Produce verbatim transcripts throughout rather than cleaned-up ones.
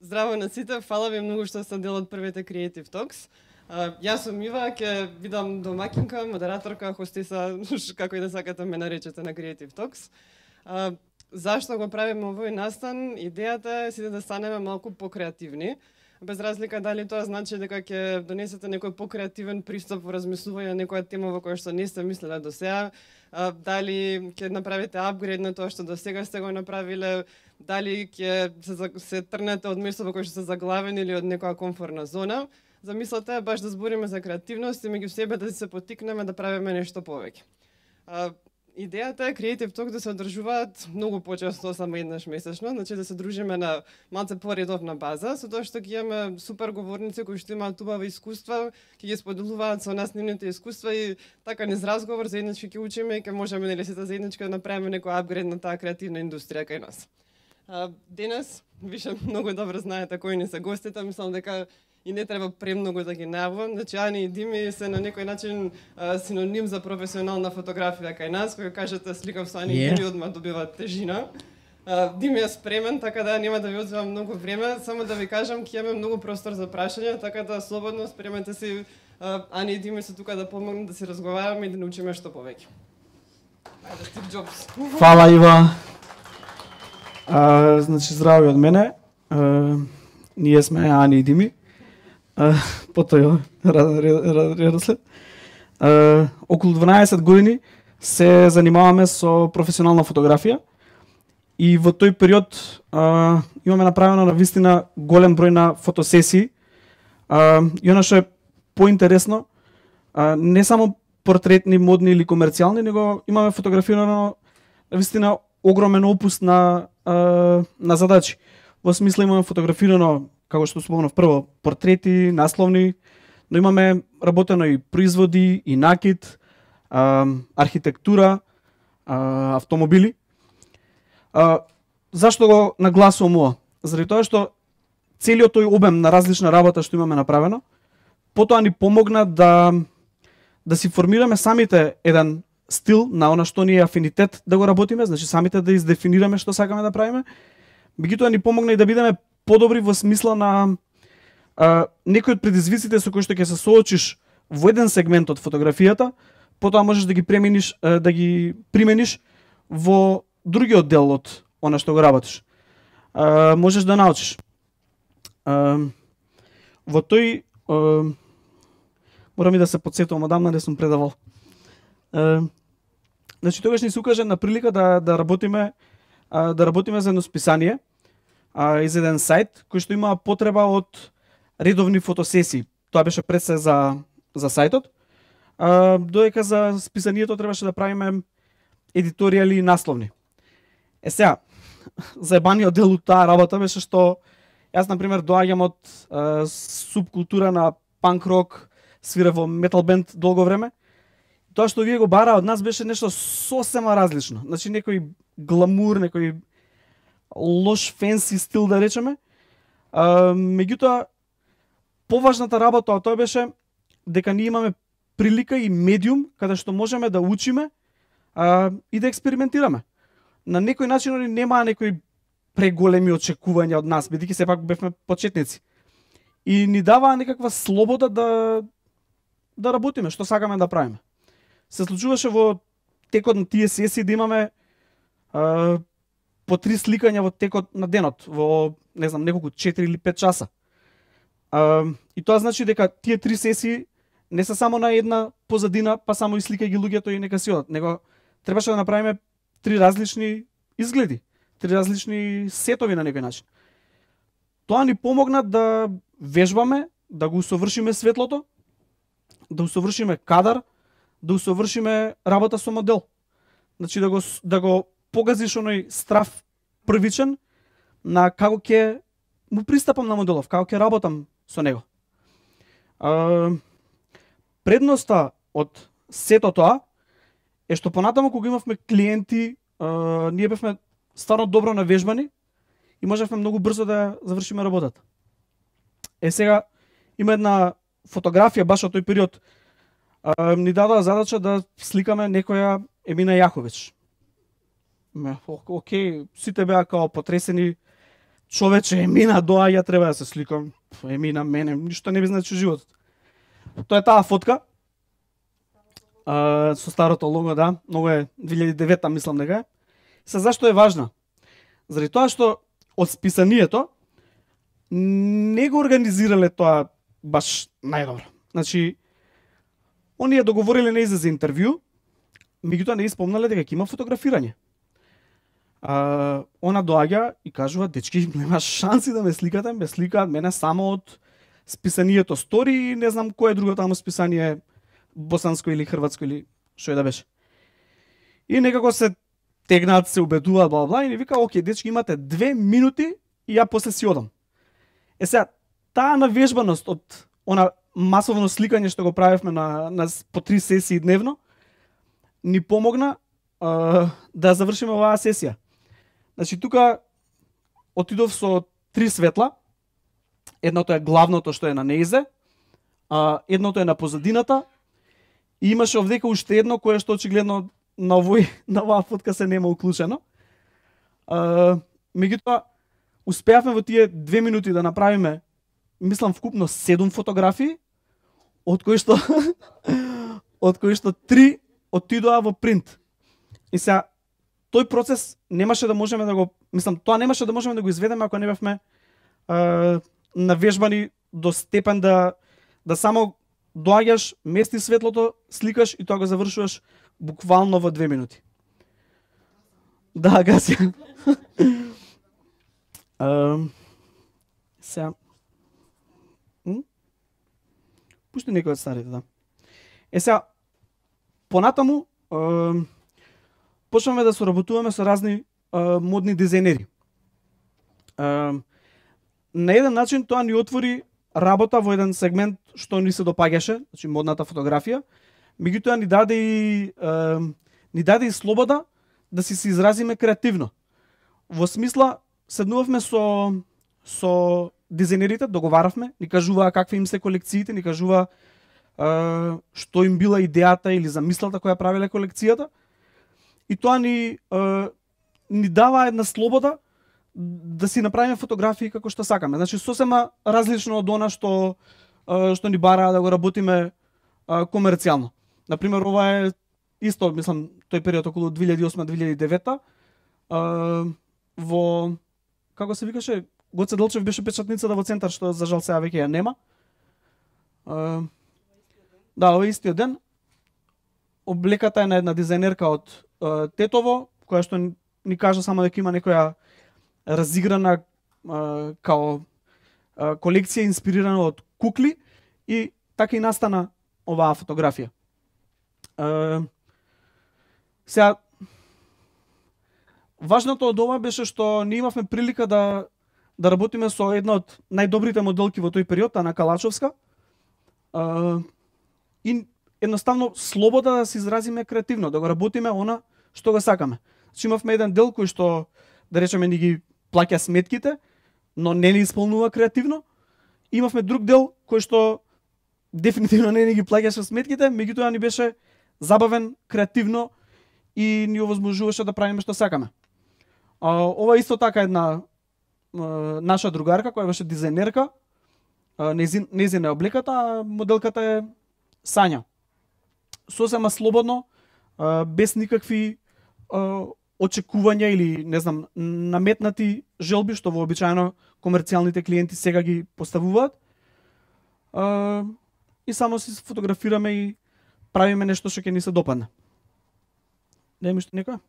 Здраво на сите, фала ви многу што сте дел од првите Creative Talks. Uh, јас сум Ива, ќе бидам домакинка, модераторка, хостиса, како и да сакате ме наречете на Creative Talks. Uh, зашто го правиме овој настан? Идејата е сите да станеме малку покреативни. Без разлика дали тоа значи дека ќе донесете некој покреативен пристап во размислување на некоја тема во која што не сте мислеле до сега, uh, дали ќе направите апгрейд на тоа што до сега сте го направиле, дали ќе се, се трнете од место во кое што сте заглавени или од некоја комфортна зона. Замислата е баш да збориме за креативност и меѓу себе да се поттикнеме да правиме нешто повеќе. А, идејата е Creative Talk да се одржуваат многу почесто, само еднаш месечно, значи да се дружиме на малце поредовна база, со тоа што ќе имаме супер говорници кои што имаат убави искуства, ќе ги споделуваат со нас нивните искуства и така низ разговор заеднички ќе учиме и ќе можеме нели сите заеднички да направиме некој апгрейд на таа креативна индустрија кај нас. А, денес више многу добро знаете кои ни се гостите, мислам дека и не треба премногу да ги најавам. Значи, Ани и Дими се на некој начин а, синоним за професионална фотографија кај нас, кој кажете сликав со Ани yeah. и Дими, одма добива тежина. А, Дими е спремен, така да нема да ви одземам многу време, само да ви кажам, ќе имаме многу простор за прашања, така да слободно спремете си. А, Ани и Дими се тука да помогнат да си разговараме и да научиме што повеќе. Ајде, Стив Джобс. Фала, Ива. А, значи, здраво од мене. А, ние сме Ани и Дими. Uh, по тој редослед. Uh, околу дванаесет години се занимаваме со професионална фотографија и во тој период uh, имаме направено на вистина голем број на фотосесии. Uh, и она што е поинтересно, uh, не само портретни, модни или комерцијални, него имаме фотографирано на вистина огромен опус на, uh, на задачи. Во смисла имаме фотографирано, како што спомнав прво, портрети, насловни, но имаме работено и производи, и накид, а, архитектура, а, автомобили. А, зашто го нагласувам ова? Заради тоа што целиот тој обем на различна работа што имаме направено, потоа ни помогна да да си формираме самите еден стил на она што ни е афинитет да го работиме, значи самите да издефинираме што сакаме да правиме. Меѓутоа ни помогна и да бидеме подобри во смисла на а, некои од предизвиците со кои што ќе се соочиш во еден сегмент од фотографијата, потоа можеш да ги премениш, а, да ги примениш во другиот дел од она што го работиш. А, можеш да научиш. А, во тој а, морам и да се потсетувам, одамна не сум предавал. А, значи тогаш ни се укаже на прилика да да работиме а, да работиме за едно списание. Uh, из еден сајт кој што има потреба од редовни фотосесии. Тоа беше пред се за за сајтот. Uh, додека за списанието требаше да правиме едиторијали и насловни. Е сега, заебаниот дел од таа работа беше што јас на пример доаѓам од uh, субкултура на панк рок, свира во метал бенд долго време. Тоа што вие го бара од нас беше нешто сосема различно. Значи некој гламур, некој лош фенси стил да речеме. А, меѓутоа поважната работа од тоа беше дека ние имаме прилика и медиум каде што можеме да учиме а, и да експериментираме. На некој начин они немаа некои преголеми очекувања од нас, бидејќи сепак бевме почетници. И ни даваа некаква слобода да да работиме што сакаме да правиме. Се случуваше во текот на тие сесии да имаме а, по три сликања во текот на денот, во, не знам, неколку четири или пет часа. А, и тоа значи дека тие три сесии не се само на една позадина, па само и сликај ги луѓето и нека си одат, него требаше да направиме три различни изгледи, три различни сетови на некој начин. Тоа ни помогна да вежбаме, да го усовршиме светлото, да усовршиме кадар, да усовршиме работа со модел. Значи да го да го погазиш оној страв првичен на како ќе му пристапам на моделов, како ќе работам со него. А, предноста од сето тоа е што понатаму кога имавме клиенти, а, ние бевме стварно добро навежбани и можевме многу брзо да завршиме работата. Е сега има една фотографија баш од тој период. А, ни дадоа задача да сликаме некоја Емина Јахович. Океј, сите беа као потресени, човече, Емина доаѓа, треба да се сликам. Емина, мене, ништо не би значи животот. Тоа е таа фотка. А, со старото лого, да, многу е две илјади и девета, мислам дека е. Се зашто е важна? Заради тоа што од списанието не го организирале тоа баш најдобро. Значи, оние договориле нејзе за интервју, меѓутоа не испомнале дека ќе има фотографирање. А, она доаѓа и кажува, дечки, нема шанси да ме сликате, ме сликаат мене само од списанието Стори и не знам кое друго тамо списание, босанско или хрватско или што е да беше. И некако се тегнаат, се убедуваат, бла бла, и ни вика, окей, дечки, имате две минути и ја после си одам. Е сега, таа навежбаност од она масовно сликање што го правевме на, на по три сесии дневно, ни помогна а, да завршиме оваа сесија. Значи, тука отидов со три светла. Едното е главното што е на нејзе, а, едното е на позадината, и имаше овдека уште едно кое што очигледно на овој на оваа фотка се нема уклучено. А, меѓутоа, успеавме во тие две минути да направиме, мислам, вкупно седум фотографии, од кои што од кои што три отидоа во принт. И сега тој процес немаше да можеме да го, мислам, тоа немаше да можеме да го изведеме ако не бевме а, навежбани до степен да да само доаѓаш, мести светлото, сликаш и тоа го завршуваш буквално во две минути. Да, гаси. uh, сега пушти некој од старите, да. Е сега, понатаму, е, почнаме да соработуваме со разни е, модни дизајнери. Е, на еден начин тоа ни отвори работа во еден сегмент што ни се допаѓаше, значи модната фотографија, меѓутоа ни даде и е, ни даде и слобода да си се изразиме креативно. Во смисла, седнувавме со со дизајнерите, договаравме, ни кажуваа какви им се колекциите, ни кажуваа uh, што им била идејата или замислата која правеле колекцијата. И тоа ни uh, ни дава една слобода да си направиме фотографии како што сакаме. Значи сосема различно од она што uh, што ни бараа да го работиме uh, комерцијално. Например, ова е исто, мислам, тој период околу две илјади и осма - две илјади и девета, uh, во како се викаше, Гоце Делчев беше печатницата во центар, што за жал сега веќе ја нема. Uh, да, овој истиот ден облеката е на една дизајнерка од uh, Тетово, која што ни кажа само дека има некоја разиграна uh, као uh, колекција инспирирана од кукли и така и настана оваа фотографија. Uh, сега важното од ова беше што ние имавме прилика да да работиме со една од најдобрите моделки во тој период, Ана Калачовска. Uh, и едноставно слобода да се изразиме креативно, да го работиме она што го сакаме. Значи имавме еден дел кој што, да речеме, ни ги плаќа сметките, но не ни исполнува креативно. Имавме друг дел кој што дефинитивно не ни ги плаќаше сметките, меѓутоа ни беше забавен, креативно и ни овозможуваше да правиме што сакаме. Uh, ова исто така една uh, наша другарка која беше дизајнерка, uh, нејзина е облеката, а моделката е Сања. Сосема слободно, uh, без никакви uh, очекувања или, не знам, наметнати желби, што вообичаено комерцијалните клиенти сега ги поставуваат. Uh, и само си фотографираме и правиме нешто што ќе ни се допадне. Не ми што некој?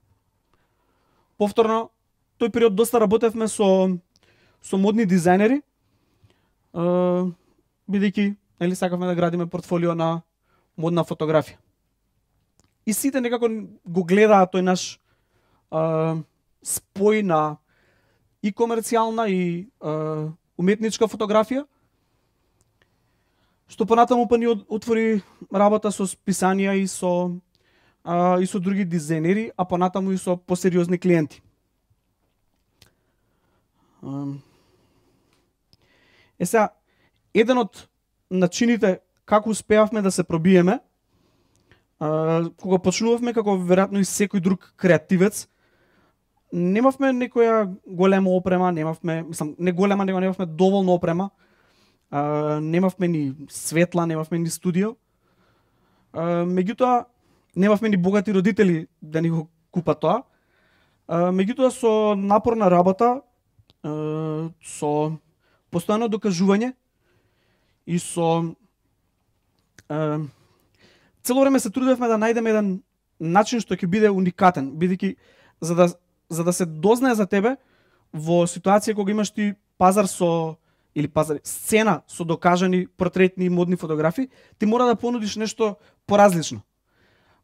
Повторно, тој период доста работевме со со модни дизајнери, uh, бидејќи нели сакавме да градиме портфолио на модна фотографија. И сите некако го гледаат тој наш uh, спој на и комерцијална и uh, уметничка фотографија, што понатаму па ни отвори работа со списанија и со uh, и со други дизајнери, а понатаму и со посериозни клиенти. Uh, Е сега, еден од начините како успеавме да се пробиеме, а, кога почнувавме како веројатно и секој друг креативец, немавме некоја голема опрема, немавме, мислам, не голема, него немавме доволно опрема. А, немавме ни светла, немавме ни студио. А, меѓутоа, немавме ни богати родители да ни го купат тоа. А, меѓутоа, со напорна работа, а, со постојано докажување и со а, цело време се трудевме да најдеме еден начин што ќе биде уникатен, бидејќи за да за да се дознае за тебе во ситуација кога имаш ти пазар со или пазар сцена со докажани портретни и модни фотографии, ти мора да понудиш нешто поразлично.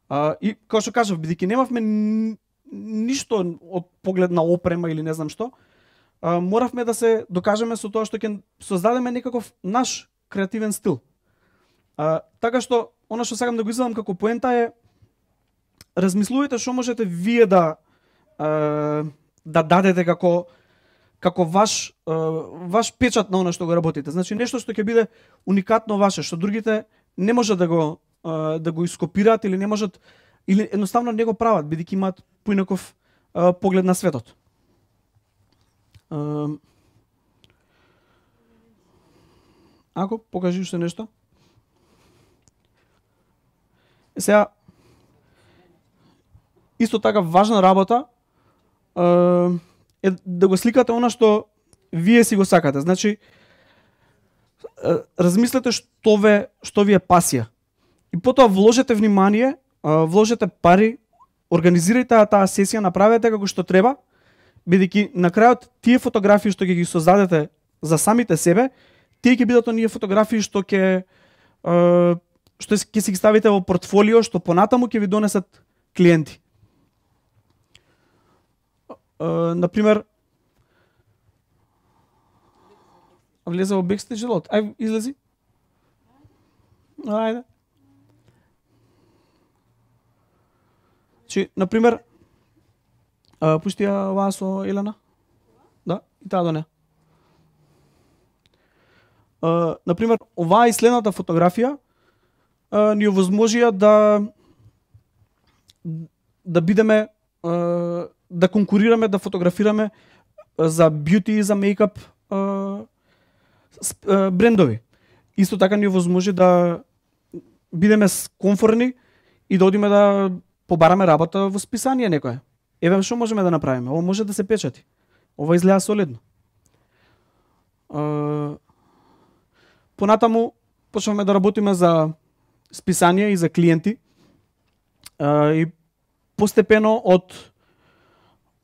А, и како што кажав, бидејќи немавме ништо од поглед на опрема или не знам што, а, моравме да се докажеме со тоа што ќе создадеме некаков наш креативен стил. А, така што она што сакам да го извадам како поента е размислувајте што можете вие да а, да дадете како како ваш а, ваш печат на она што го работите. Значи нешто што ќе биде уникатно ваше, што другите не можат да го а, да го ископираат или не можат или едноставно не го прават бидејќи имаат поинаков а, поглед на светот. А, ако покажи уште нешто. Сега, исто така важна работа е да го сликате она што вие си го сакате. Значи, размислете што ве што ви е пасија. И потоа вложете внимание, вложете пари, организирајте таа сесија, направете како што треба, бидејќи на крајот тие фотографии што ќе ги создадете за самите себе, тие ќе бидат оние фотографии што ќе што ќе си ги ставите во портфолио, што понатаму ќе ви донесат клиенти. Uh, например, влезе во бекстејдж делот. Ај, излези. Ајде. Чи, например, uh, пушти ја оваа со Елена. Да, и таа до неа. Uh, например, оваа и следната фотографија uh, ни овозможија да да бидеме uh, да конкурираме, да фотографираме за бјути и за мејкап брендови. Исто така ни овозможи да бидеме комфорни и да одиме да побараме работа во списание некое. Еве што можеме да направиме? Ова може да се печати. Ова изгледа солидно. Понатаму почнавме да работиме за списание и за клиенти. И постепено од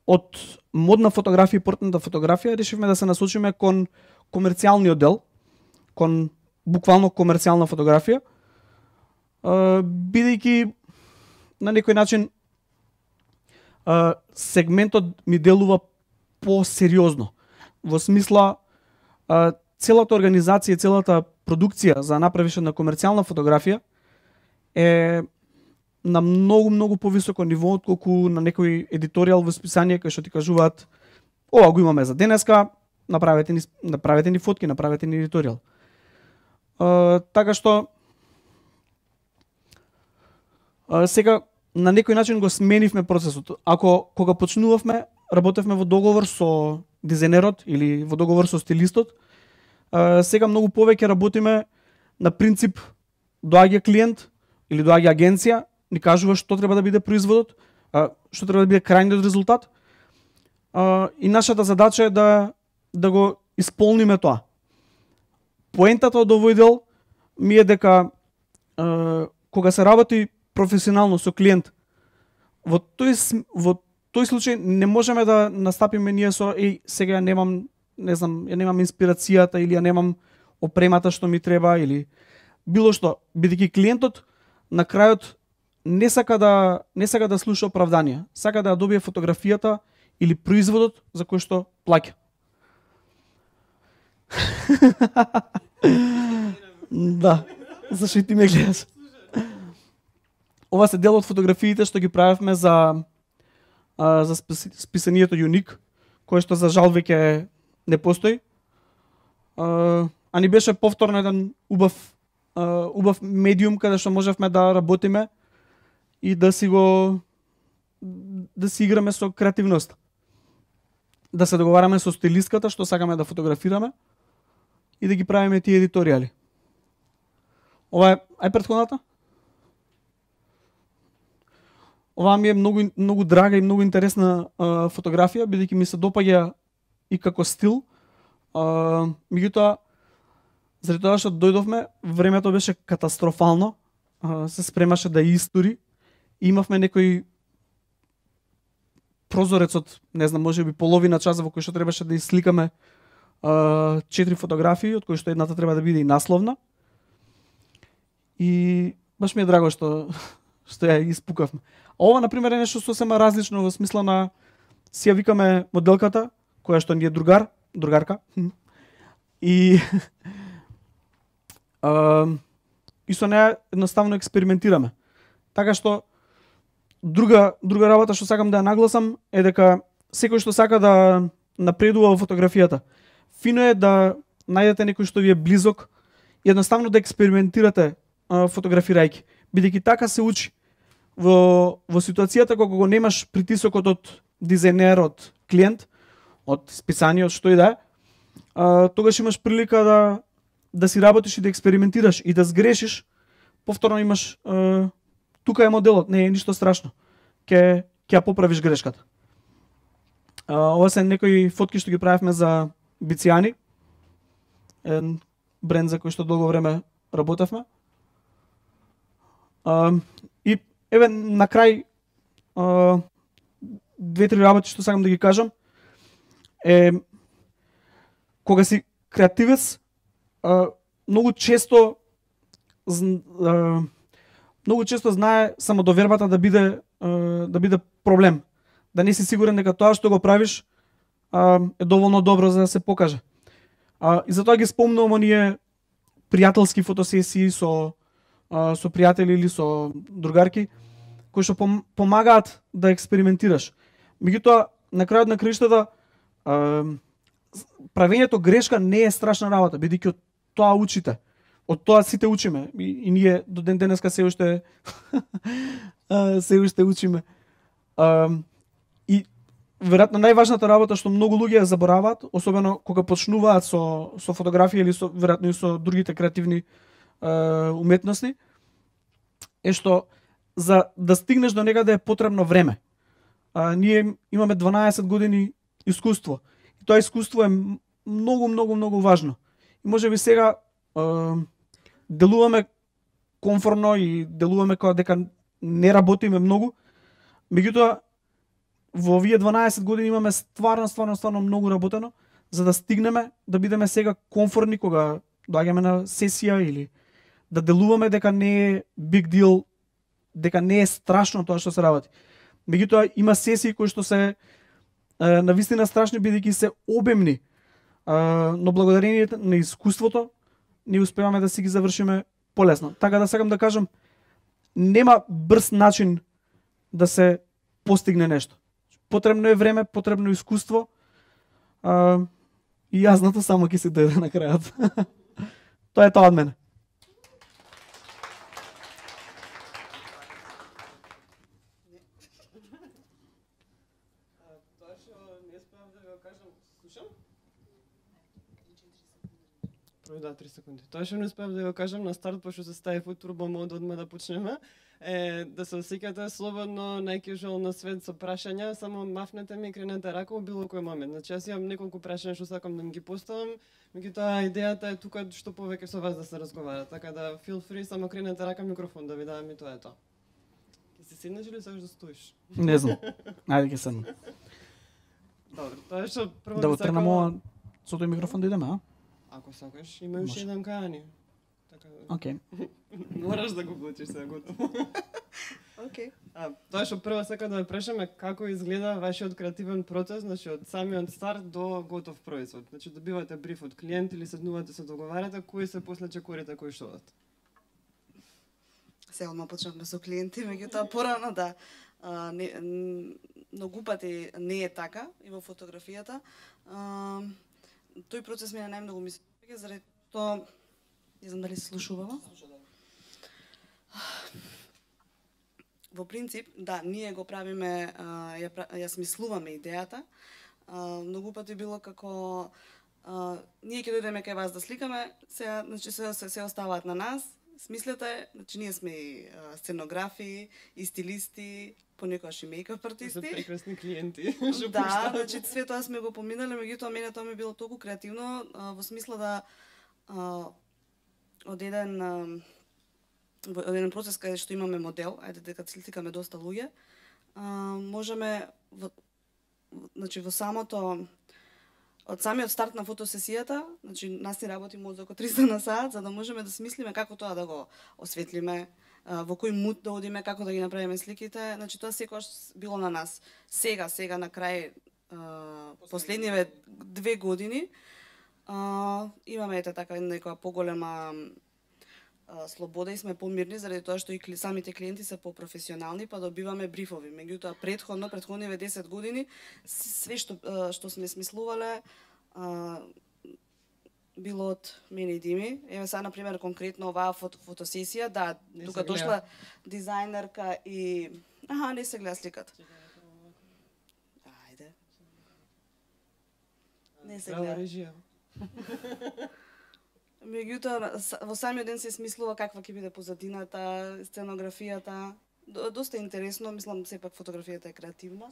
од модна фотографија и портретна фотографија решивме да се насочиме кон комерцијалниот дел, кон буквално комерцијална фотографија, бидејќи на некој начин сегментот ми делува посериозно. Во смисла целата организација, целата продукција за направиш на комерцијална фотографија е на многу, многу повисоко ниво отколку на некој едиторијал во списание кај што ти кажуваат ова го имаме за денеска, направете ни, направете ни фотки, направете ни едиторијал. Uh, така што uh, сега на некој начин го сменивме процесот. Ако кога почнувавме, работевме во договор со дизајнерот или во договор со стилистот, uh, сега многу повеќе работиме на принцип доаѓа клиент или доаѓа агенција, ни кажува што треба да биде производот, што треба да биде крајниот резултат. И нашата задача е да да го исполниме тоа. Поентата од овој дел ми е дека кога се работи професионално со клиент, во тој во тој случај не можеме да настапиме ние со еј сега ја немам, не знам, ја немам инспирацијата или ја немам опремата што ми треба или било што, бидејќи клиентот на крајот не сака да не сака да слуша оправданија, сака да ја добие фотографијата или производот за кој што плаќа. Да, зашто и ти ме гледаш. Ова се дел од фотографиите што ги правевме за а, за списанието Юник, кое што за жал веќе не постои. А, а ни беше повторно еден убав а, убав медиум каде што можевме да работиме и да си го да си играме со креативноста. да се договараме со стилистката што сакаме да фотографираме и да ги правиме тие едиторијали. Ова е, ај претходната? Ова ми е многу многу драга и многу интересна а, фотографија, бидејќи ми се допаѓа и како стил. А, меѓутоа, заради тоа што дојдовме, времето беше катастрофално, а, се спремаше да истори и имавме некој прозорец од, не знам, можеби половина час во кој што требаше даисликаме а, четири фотографии, од кои што едната треба да биде и насловна. И баш ми е драго што што ја испукавме. А ова, например, е нешто сосема различно во смисла на си ја викаме моделката, која што ни е другар, другарка. И а, и со неја едноставно експериментираме. Така што друга друга работа што сакам да ја нагласам е дека секој што сака да напредува во фотографијата, фино е да најдете некој што ви е близок и едноставно да експериментирате а, фотографирајќи, бидејќи така се учи. Во, во ситуацијата кога го немаш притисокот од дизајнер, од клиент, од списание, од што и да е, а, тогаш имаш прилика да да си работиш и да експериментираш и да сгрешиш, повторно имаш а, тука е моделот, не е ништо страшно. Ке ќе ја поправиш грешката. А, ова се некои фотки што ги правевме за Бицијани, еден бренд за кој што долго време работевме. А, и еве на крај а, две-три работи што сакам да ги кажам е кога си креативец, а, многу често а, многу често знае самодовербата да биде а, да биде проблем. Да не си сигурен дека тоа што го правиш а, е доволно добро за да се покаже. А, и затоа ги спомнувам оние пријателски фотосесии со а, со пријатели или со другарки кои што пом, помагаат да експериментираш. Меѓутоа, на крајот на краиштата, правењето грешка не е страшна работа, бидејќи од тоа учите. Од тоа сите учиме. И, и ние до ден денеска се уште се уште учиме. А, и веројатно најважната работа што многу луѓе ја забораваат, особено кога почнуваат со со фотографија или со веројатно и со другите креативни а, уметности, е што за да стигнеш до некаде е потребно време. А, ние имаме дванаесет години искуство. И тоа искуство е многу, многу, многу важно. И може би сега а, делуваме комфорно и делуваме како дека не работиме многу. Меѓутоа, во овие дванаесет години имаме стварно, стварно, стварно многу работено, за да стигнеме да бидеме сега комфорни кога доаѓаме на сесија или да делуваме дека не е big deal, дека не е страшно тоа што се работи. Меѓутоа има сесии кои што се е, навистина страшни бидејќи се обемни, е, но благодарение на искуството ние успеваме да си ги завршиме полесно. Така да сакам да кажам, нема брз начин да се постигне нешто. Потребно е време, потребно е искуство. А, и јазното само ќе се дојде на крајот. Тоа е тоа од мене. Тоа што не успеав да го кажам, слушам? Да, три секунди. Тоа што не успеав да го кажам на старт, пошто се стави во турбо мод одма да почнеме, е да се осеќате слободно, најкежуал на свет со прашања, само мафнете ми и кренете рака во било кој момент. Значи јас имам неколку прашања што сакам да ми ги поставам, меѓутоа идејата е тука што повеќе со вас да се разговара, така да feel free, само кренете рака микрофон да ви дадам и тоа е тоа. Ќе се седнеш или сакаш да стоиш? Не знам. Ајде ќе седнам. Добро, тоа е што прво Да би го тренам сакала- ова со тој микрофон да идеме, а? Ако сакаш, има уште еден кајани. Така да. Океј. Мораш да го вклучиш сега готово. Океј. А, тоа што прво сакам да ве прашаме како изгледа вашиот креативен процес, значи од самиот старт до готов производ. Значи добивате бриф од клиент или седнувате се договарате, кои се после чекорите кои што одат. Сега одма почнавме со клиенти, меѓутоа порано да а, не, н- многу пати не е така и во фотографијата. А, тој процес ми е најмногу ми се допаѓа заради тоа, не знам дали се слушувало. Во принцип, да, ние го правиме, а, ја, пра- ја смислуваме идејата, А, многу пати било како а, ние ќе дојдеме кај вас да сликаме, сега значи се се, се оставаат на нас. Смислете, значи ние сме и а, сценографи, и стилисти, понекогаш и мејкап артисти. За прекрасни клиенти. Да, значи све тоа сме го поминале, меѓутоа мене тоа ми било толку креативно а, во смисла да а, од еден а, од еден процес каде што имаме модел, ајде дека сликаме доста луѓе, а, можеме во, значи во самото од самиот старт на фотосесијата, значи нас ни работи мозок од триста на сат, за да можеме да смислиме како тоа да го осветлиме, во кој мут да одиме, како да ги направиме сликите, значи тоа секогаш било на нас. Сега, сега на крај последниве две години а, имаме ете така некоја поголема а, слобода и сме помирни заради тоа што и кли, самите клиенти се попрофесионални, па добиваме брифови. Меѓутоа претходно, претходниве десет години све што а, што сме смислувале а, било од мене и Дими. Еве сега на пример конкретно оваа фото, фотосесија, да, Не тука се гледа. дошла дизајнерка и аха, не се гледа сликата. Ајде. Не се Браво, гледа. режија. Меѓутоа, с- во самиот ден се смислува каква ќе биде позадината, сценографијата. До- Доста интересно, мислам, сепак фотографијата е креативна.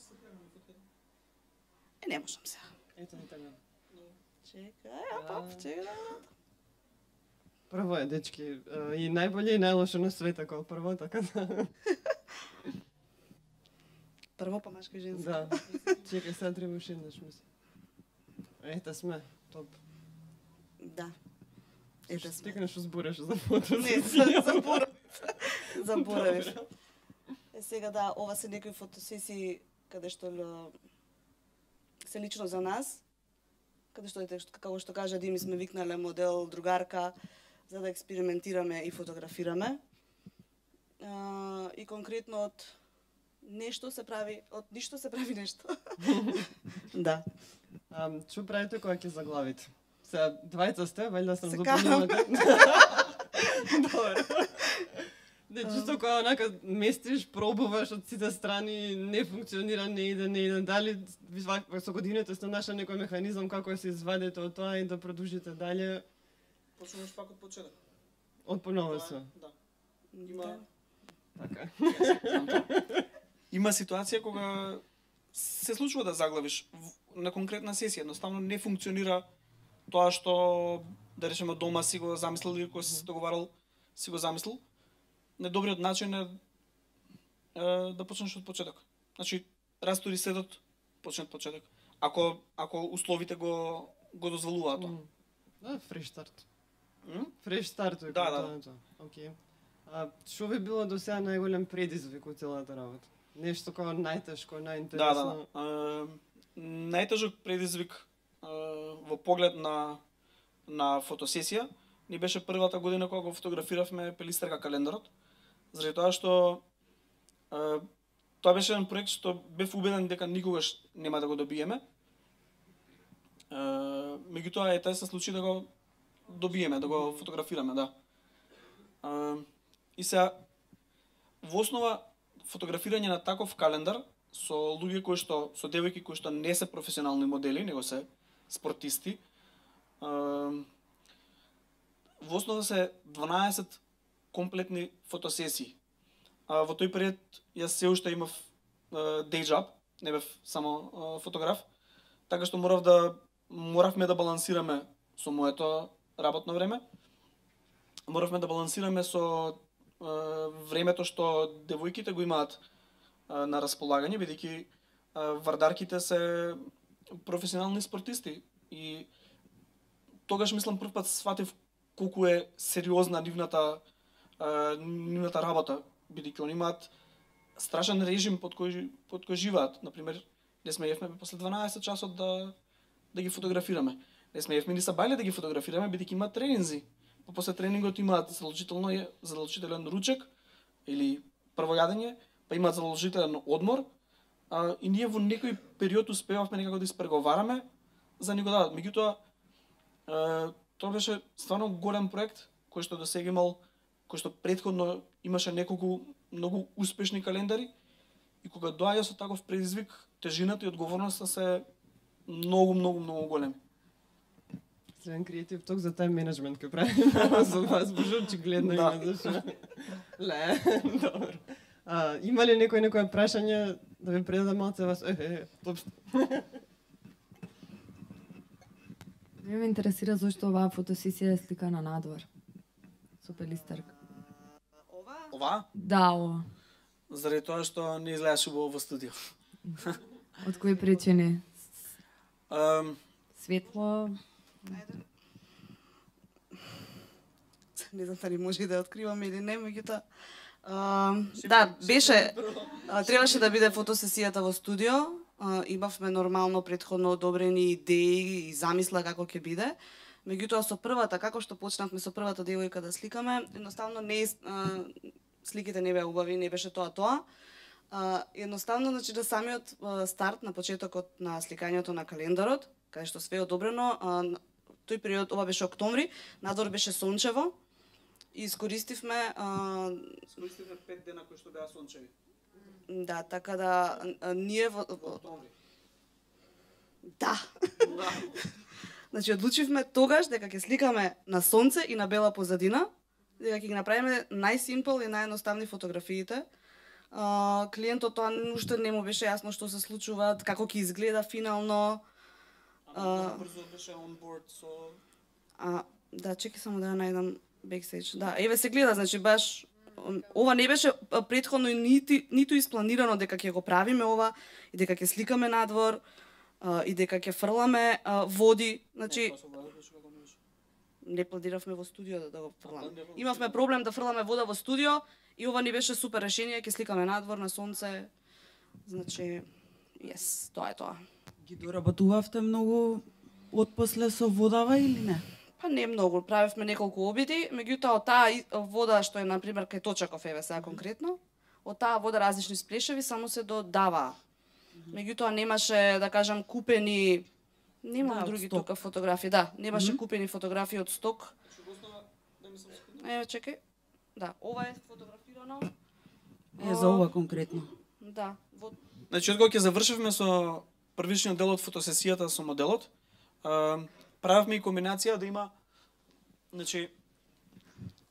Е, не можам сега. Ето ни така. Чекај, а пап, чекај да го Прво е, дечки, е, и најболje и најлошо на света како прво, така да. Прво па машко и женско. Да. Чекај, сега треба уште еднаш, мислам. Ете сме, топ. Да. Ете сме. Стикнеш узбореш за фото. Не, за- заборав. Заборавив. Е, сега да, ова се некои фотосесии каде што л- се лично за нас, каде што ете, што- како што кажа Дими, сме викнале модел, другарка, за да експериментираме и фотографираме. А, и конкретно од нешто се прави, од ништо се прави нешто. Да. А, што правите кога ќе заглавите? Сега, двајца сте, вајда сам Се запомнила. Добро. Не, чисто кога онака местиш, пробуваш од сите страни, не функционира, не иде, не иде. Дали вак- со годините сте нашли некој механизам како да се извадите од тоа и да продолжите дале Почнуваш пак од почеток. од поново се. Да. Има... Така. Има ситуација кога се случува да заглавиш в- на конкретна сесија, едноставно не функционира тоа што да речеме дома си го замислил или кога си се договарал си го замислил. Недобриот начин е, е да почнеш од почеток. Значи, растури сетот, почни од почеток. Ако ако условите го го дозволуваат тоа. М. Да, фреш старт. М? Фреш старт е Да, како да. тоа. Океј. А што ви било до сега најголем предизвик од целата работа? Нешто како најтешко, Да, најинтересно. да. да. Е, најтежок предизвик е, во поглед на на фотосесија ни беше првата година кога го фотографиравме Пелистерка календарот, заради тоа што е, тоа беше еден проект што бев убеден дека никогаш нема да го добиеме. Е, меѓутоа ете се случи да го добиеме, да го фотографираме, да. Е, и сега во основа фотографирање на таков календар со луѓе кои што со девојки кои што не се професионални модели, него се спортисти. Е, во основа се дванаесет комплетни фотосесии. А во тој период јас се уште имав day job, не бев само е, фотограф, така што морав да моравме да балансираме со моето работно време. Моравме да балансираме со е, времето што девојките го имаат е, на располагање, бидејќи е, вардарките се професионални спортисти и тогаш мислам прв пат сватив колку е сериозна нивната е, нивната работа, бидејќи они имаат страшен режим под кој под кој живеат. Например, не сме јевме после дванаесет часот да да ги фотографираме. Не сме јевме ни са бајле да ги фотографираме бидејќи имаат тренинзи. Па после тренингот имаат задолжително задолжителен ручек или прво јадење, па имаат задолжителен одмор. А, и ние во некој период успевавме некако да испреговараме за ни го дадат. Меѓутоа, е, тоа беше стварно голем проект кој што досега имал, кој што претходно имаше неколку многу успешни календари и кога доаѓа со таков предизвик, тежината и одговорноста се многу, многу, многу големи. Среден креатив ток за тајм менеджмент кој прави за вас, боже, очигледно има зашо. Ле, добро. А, има ли некој некој прашање да ви предадам малце вас? Е, е, топ. Ме интересира зошто оваа фотосесија е сликана надвор. Со пелистерка. Ова? Ова? Да, ова. Заради тоа што не изгледаш убаво во студио. Од кои причини? Um, Светло? Ајде. Не знам дали може да ја откриваме или не, меѓутоа да, беше а, требаше да биде фотосесијата во студио. А, имавме нормално претходно одобрени идеи и замисла како ќе биде. Меѓутоа со првата, како што почнавме со првата девојка да сликаме, едноставно не а, сликите не беа убави, не беше тоа тоа. А, едноставно, значи, да самиот а, старт на почетокот на сликањето на календарот, каде што све е одобрено, а, тој период, ова беше октомври, надвор беше сончево и искористивме а, Искористивме пет дена кои што беа сончеви. да, така да а, ние во, во Октомври. да. Значи одлучивме тогаш дека ќе сликаме на сонце и на бела позадина, дека ќе ги направиме најсимпл и наједноставни фотографиите. А, клиентот тоа уште не му беше јасно што се случува, како ќе изгледа финално. А, брзо беше on board со А, да, чекај само да ја најдам бекстејдж. Да, еве се гледа, значи баш ова не беше претходно ниту ниту испланирано дека ќе го правиме ова и дека ќе сликаме надвор а, и дека ќе фрламе а, води, значи не планиравме во студио да, да го фрламе. Имавме проблем да фрламе вода во студио и ова не беше супер решение, ќе сликаме надвор на сонце. Значи, yes, тоа е тоа. Ги доработувавте многу отпосле со водава или не? Па не многу, правевме неколку обиди, меѓутоа од таа и- вода што е на пример кај Точаков еве сега конкретно, од таа вода различни сплешеви само се додава. Меѓутоа немаше, да кажам, купени немам Да, од други сток. тука фотографии, да, немаше купени фотографии од сток. Еве чекај. Да, ова е фотографирано. Е, за ова конкретно. Да, во Значи, откога ќе завршивме со првичниот дел од фотосесијата со моделот, а, правевме и комбинација да има, значи,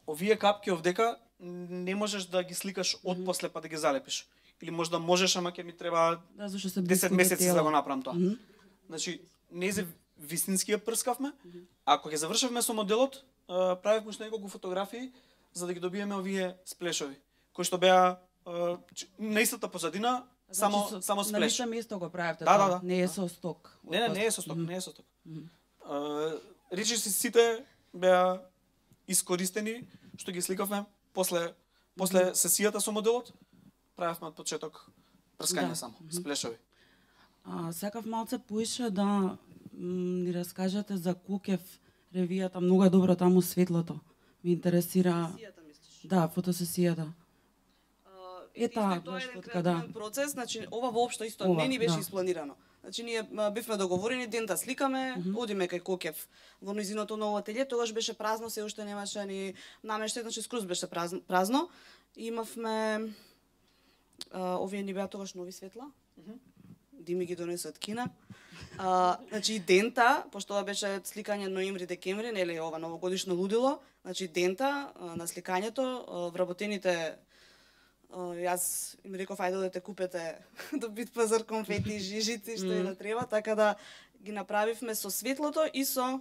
овие капки овдека не можеш да ги сликаш од после па да ги залепиш. Или можда можеш, ама ќе ми треба Да, зашто се десет близко до месеци за да тело. го направам тоа. Мгм. Значи, не за вистински ја прскавме. Ако ќе завршивме со моделот, а, правевме уште неколку фотографии за да ги добиеме овие сплешови, кои што беа а, ч- на истата позадина, само Значи, со- само На сплеш. лице место го правевте Да, тоа, да, да. не е со сток. Не, не, не е со сток, не е со сток. А, речи си сите беа искористени што ги сликавме после после сесијата со моделот, правевме од почеток прскање Да. само, сплешови. А, сакав малце поише да м, ни раскажете за Кокев ревијата, многу е добро таму светлото. Ме интересира, фотосесијата мислиш? да, фотосесијата. Е, Исто таа, и тоа баш е еден така, да. креативен процес, значи ова воопшто исто Ова, не ни беше да. испланирано. Значи ние м, бивме договорени ден да сликаме, Мгм. одиме кај Кокев во низиното ново ателје, тогаш беше празно, се уште немаше ни намештај, значи скроз беше празно. празно. И имавме а, овие ни беа тогаш нови светла. Дими ги донесе од Кина. А, значи и дента, пошто ова беше сликање ноември-декември, нели ова новогодишно лудило, значи дента а, на сликањето, а, вработените а, јас им реков ајде одете купете до Бит пазар конфети, жижици, што и да треба, така да ги направивме со светлото и со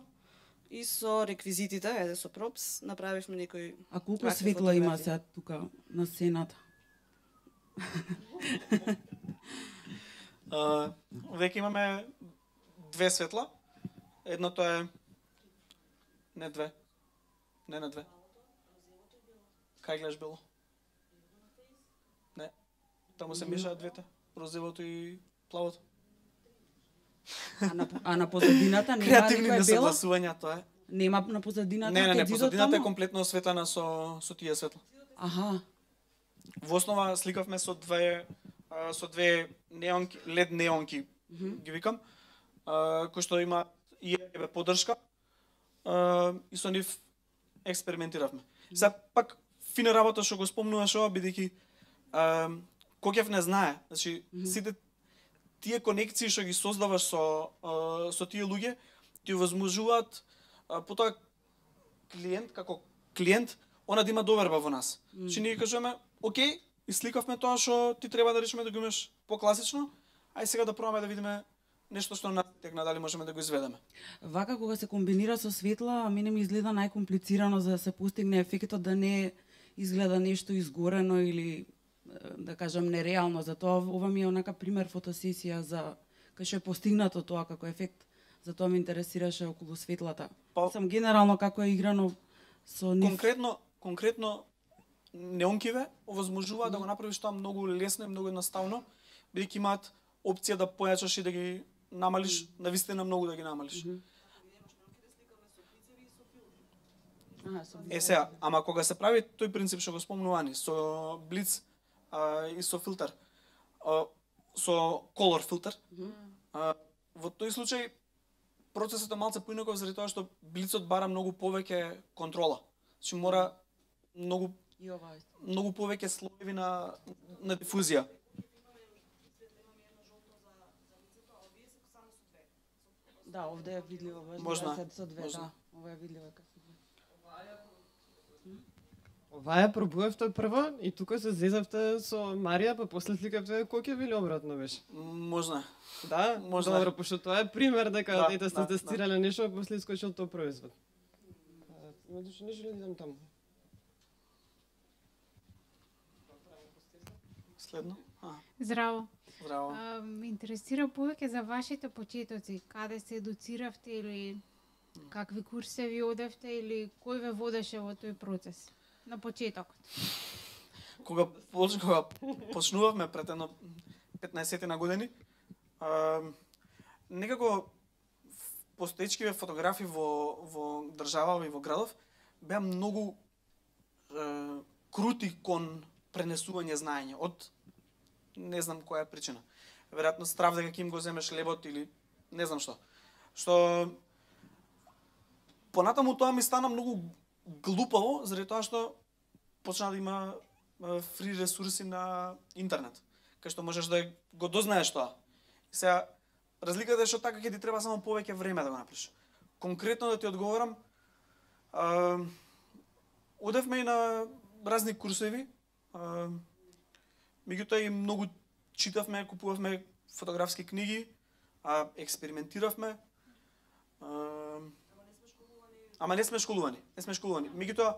и со реквизитите, ајде со пропс, направивме некои А колку кратки светло има фотографии. сега тука на сцената? А, веќе имаме две светла. Едното е не две. Не на две. Кај гледаш бело? Не. Таму се мешаат двете. Розевото и плавото. А на, а на позадината нема Креативни никој бело? несогласувања тоа е. Нема на позадината? Не, не, не, кај зидот позадината е таму? комплетно осветлена со со тие светла. Аха, Во основа сликавме со две а, со две неонки, лед неонки, ги викам, а, кои што има и ебе поддршка. А, и со нив експериментиравме. Сега пак фина работа што го спомнуваш ова, бидејќи а, Кокев не знае. Значи сите тие конекции што ги создаваш со а, со тие луѓе ти овозможуваат потоа клиент како клиент она да има доверба во нас. Mm. Че ние кажеме, окей, исликавме тоа што ти треба да речеме да го имаш покласично, ај сега да пробаме да видиме нешто што на текна дали можеме да го изведеме. Вака кога се комбинира со светла, мене ми изгледа најкомплицирано за да се постигне ефектот да не изгледа нешто изгорено или да кажам нереално. Затоа ова ми е онака пример фотосесија за кај што е постигнато тоа како ефект. Затоа ме интересираше околу светлата. Па, Сам генерално како е играно со нив. Конкретно, конкретно неонкиве овозможува mm. да го направиш тоа многу лесно и многу едноставно, бидејќи имаат опција да појачаш и да ги намалиш, mm. навистина многу да ги намалиш. Mm -hmm. Е сега, ама кога се прави тој принцип што го спомнувани со блиц а, и со филтер, а, со колор филтер, mm -hmm. а, во тој случај процесот е малце поинаков заради тоа што блицот бара многу повеќе контрола. Значи мора многу и ова е. Многу повеќе слоеви на на дифузија. Да, овде е видливо баш Можна, со две, можна. да. Ова е видливо како се. Ова ја пробувавте прво и тука се зезавте со Марија, па после сликавте коќеви или обратно беше? Можна. Да, Можна. Добро, пошто тоа е пример дека Да, ете сте да, тестирале да. нешто, а после искочил тој производ. Значи не желам да идам таму. Следно. А, Здраво. здраво. А, ме интересира повеќе за вашите почетоци, каде се едуциравте или какви курсеви одевте или кој ве водеше во тој процес на почетокот? Кога поч- кога почнувавме пред едно петнаесет на години, а, некако постоечкиве фотографи во во држава и во градов беа многу е, крути кон пренесување знаење од не знам која е причина. Веројатно страв дека ќе им го земеш лебот или не знам што. Што понатаму тоа ми стана многу глупаво заради тоа што почна да има е, фри ресурси на интернет, кај што можеш да го дознаеш тоа. И сега разликата е што така ќе ти треба само повеќе време да го направиш. Конкретно да ти одговорам, а, одевме и на разни курсеви, а, меѓутоа и многу читавме, купувавме фотографски книги, а, експериментиравме. А, ама не сме школувани, не сме школувани. Меѓутоа,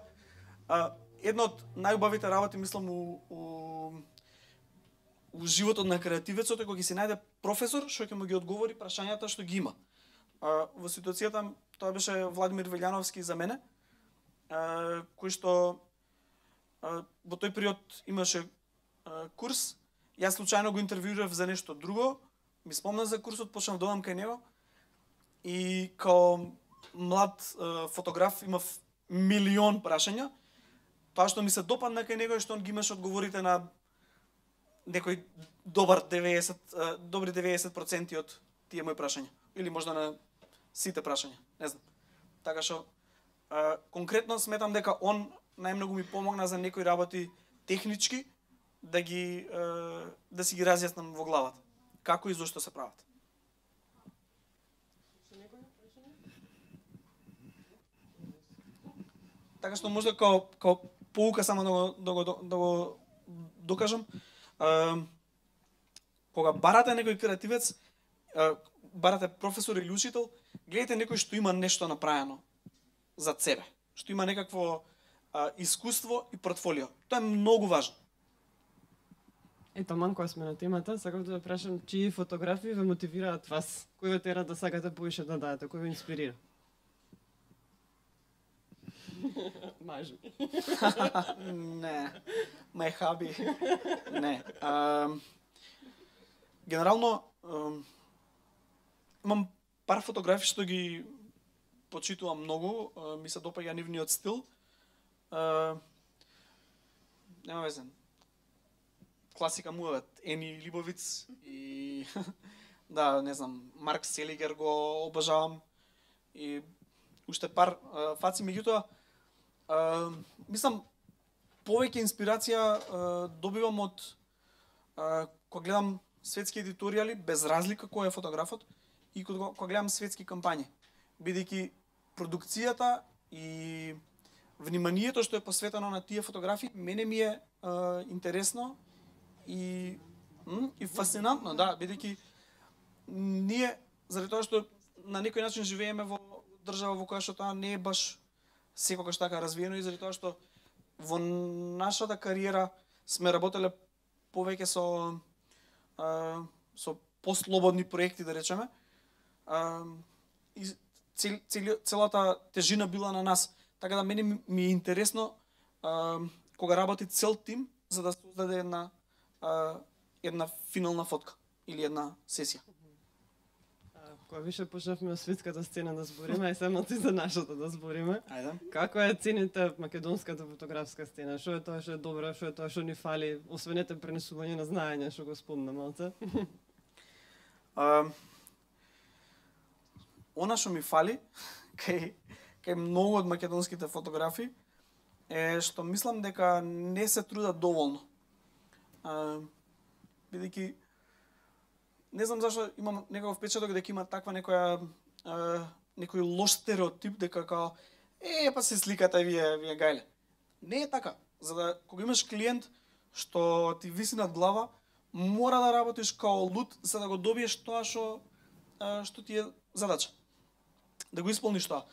а, една од најубавите работи, мислам, у, у, у животот на креативецот е кога ќе се најде професор што ќе му ги одговори прашањата што ги има. А, во ситуацијата тоа беше Владимир Велјановски за мене, а, кој што а, во тој период имаше а, курс. Јас случајно го интервјуирав за нешто друго, ми спомна за курсот, почнав да одам кај него и као млад а, фотограф имав милион прашања. Тоа што ми се допадна кај него е што он ги имаше одговорите на некој добар деветдесет, добри деветдесет проценти од тие мои прашања. Или можда на сите прашања, не знам. Така што, а, конкретно сметам дека он најмногу ми помогна за некои работи технички, да ги а, да си ги разјаснам во главата. Како и зошто се прават. Така што можда као, као поука само да го, да го, да го докажам, Uh, кога барате некој креативец, uh, барате професор или учител, гледате некој што има нешто направено за себе, што има некакво uh, искуство и портфолио. Тоа е многу важно. Ето, ман кога сме на темата, сакам да прашам чии фотографии ве мотивираат вас? Кој ве тера да сакате поише да дадете? Кој ве инспирира? Мажи. Не, мај хаби. Не. А, генерално, а, имам пар фотографии што ги почитувам многу, а, ми се допаѓа нивниот стил. А, нема везе. Класика му е Ени Либовиц и да, не знам, Марк Селигер го обожавам и уште пар а, фаци, меѓутоа Uh, мислам, повеќе инспирација uh, добивам од uh, кога гледам светски едиторијали без разлика кој е фотографот и кога, кога гледам светски кампањи, бидејќи продукцијата и вниманието што е посветено на тие фотографии мене ми е а, интересно и м, и фасцинантно, да, бидејќи ние заради тоа што на некој начин живееме во држава во која што тоа не е баш секогаш така развиено и заради тоа што во нашата кариера сме работеле повеќе со а, со послободни проекти, да речеме. А, и цел, цел, целата тежина била на нас. Така да мене ми е интересно а, кога работи цел тим за да создаде една а, една финална фотка или една сесија. Кога више почнавме од светската сцена да збориме, ај само ти за нашата да збориме. Ајде. Како е цените македонската фотографска сцена? Што е тоа што е добро, што е тоа што ни фали, освен ете пренесување на знаење, што го спомна малце? А, она што ми фали кај кај многу од македонските фотографи е што мислам дека не се трудат доволно. А, бидејќи не знам зашто имам некаков впечаток дека има таква некоја а, некој лош стереотип дека као е па се сликате вие вие гајле. Не е така. За да кога имаш клиент што ти виси над глава, мора да работиш као луд за да го добиеш тоа што а, што ти е задача. Да го исполниш тоа.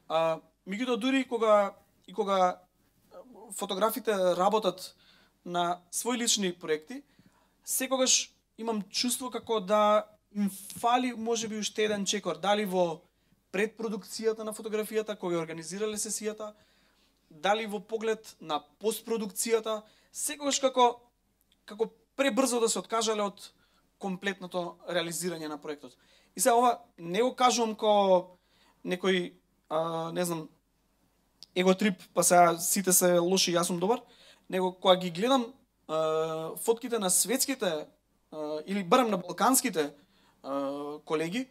А, меѓутоа дури кога и кога фотографите работат на своји лични проекти, секогаш имам чувство како да им фали можеби уште еден чекор, дали во предпродукцијата на фотографијата кога ја организирале сесијата, дали во поглед на постпродукцијата, секогаш како како пребрзо да се откажале од комплетното реализирање на проектот. И сега ова не го кажувам како некој а, не знам еготрип, па сега сите се лоши, јас сум добар, него кога ги гледам а, фотките на светските а, или барем на балканските а, колеги,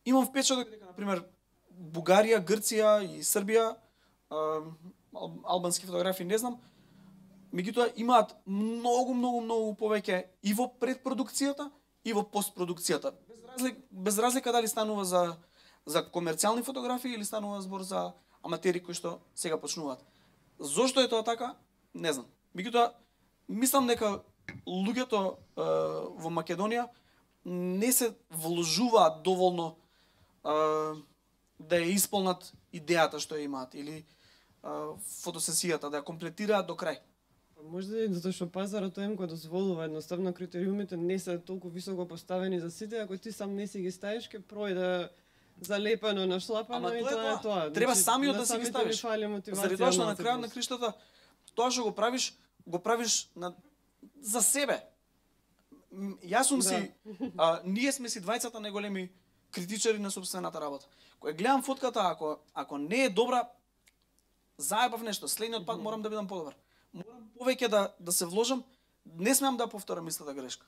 имам впечаток дека на пример Бугарија, Грција и Србија, а, албански фотографи не знам, меѓутоа имаат многу многу многу повеќе и во предпродукцијата и во постпродукцијата. Без разлика, без разлика дали станува за за комерцијални фотографии или станува збор за аматери кои што сега почнуваат. Зошто е тоа така? Не знам. Меѓутоа мислам дека луѓето е, во Македонија не се вложуваат доволно е, да ја исполнат идејата што ја имаат или е, фотосесијата да ја комплетираат до крај. Можда и затоа што пазарот тој им го дозволува, едноставно критериумите не се толку високо поставени за сите, ако ти сам не си ги ставиш, ќе пројде залепено, нашлапано и тоа е тоа. Треба самиот да си ги ставиш. Заради тоа што на крајот на криштата тоа што го правиш, го правиш на за себе. Јас сум си, а, ние сме си двајцата најголеми критичари на сопствената работа. Кога гледам фотката, ако ако не е добра, заебав нешто, следниот пат морам да бидам подобар. Морам повеќе да да се вложам, не смеам да повторам истата грешка.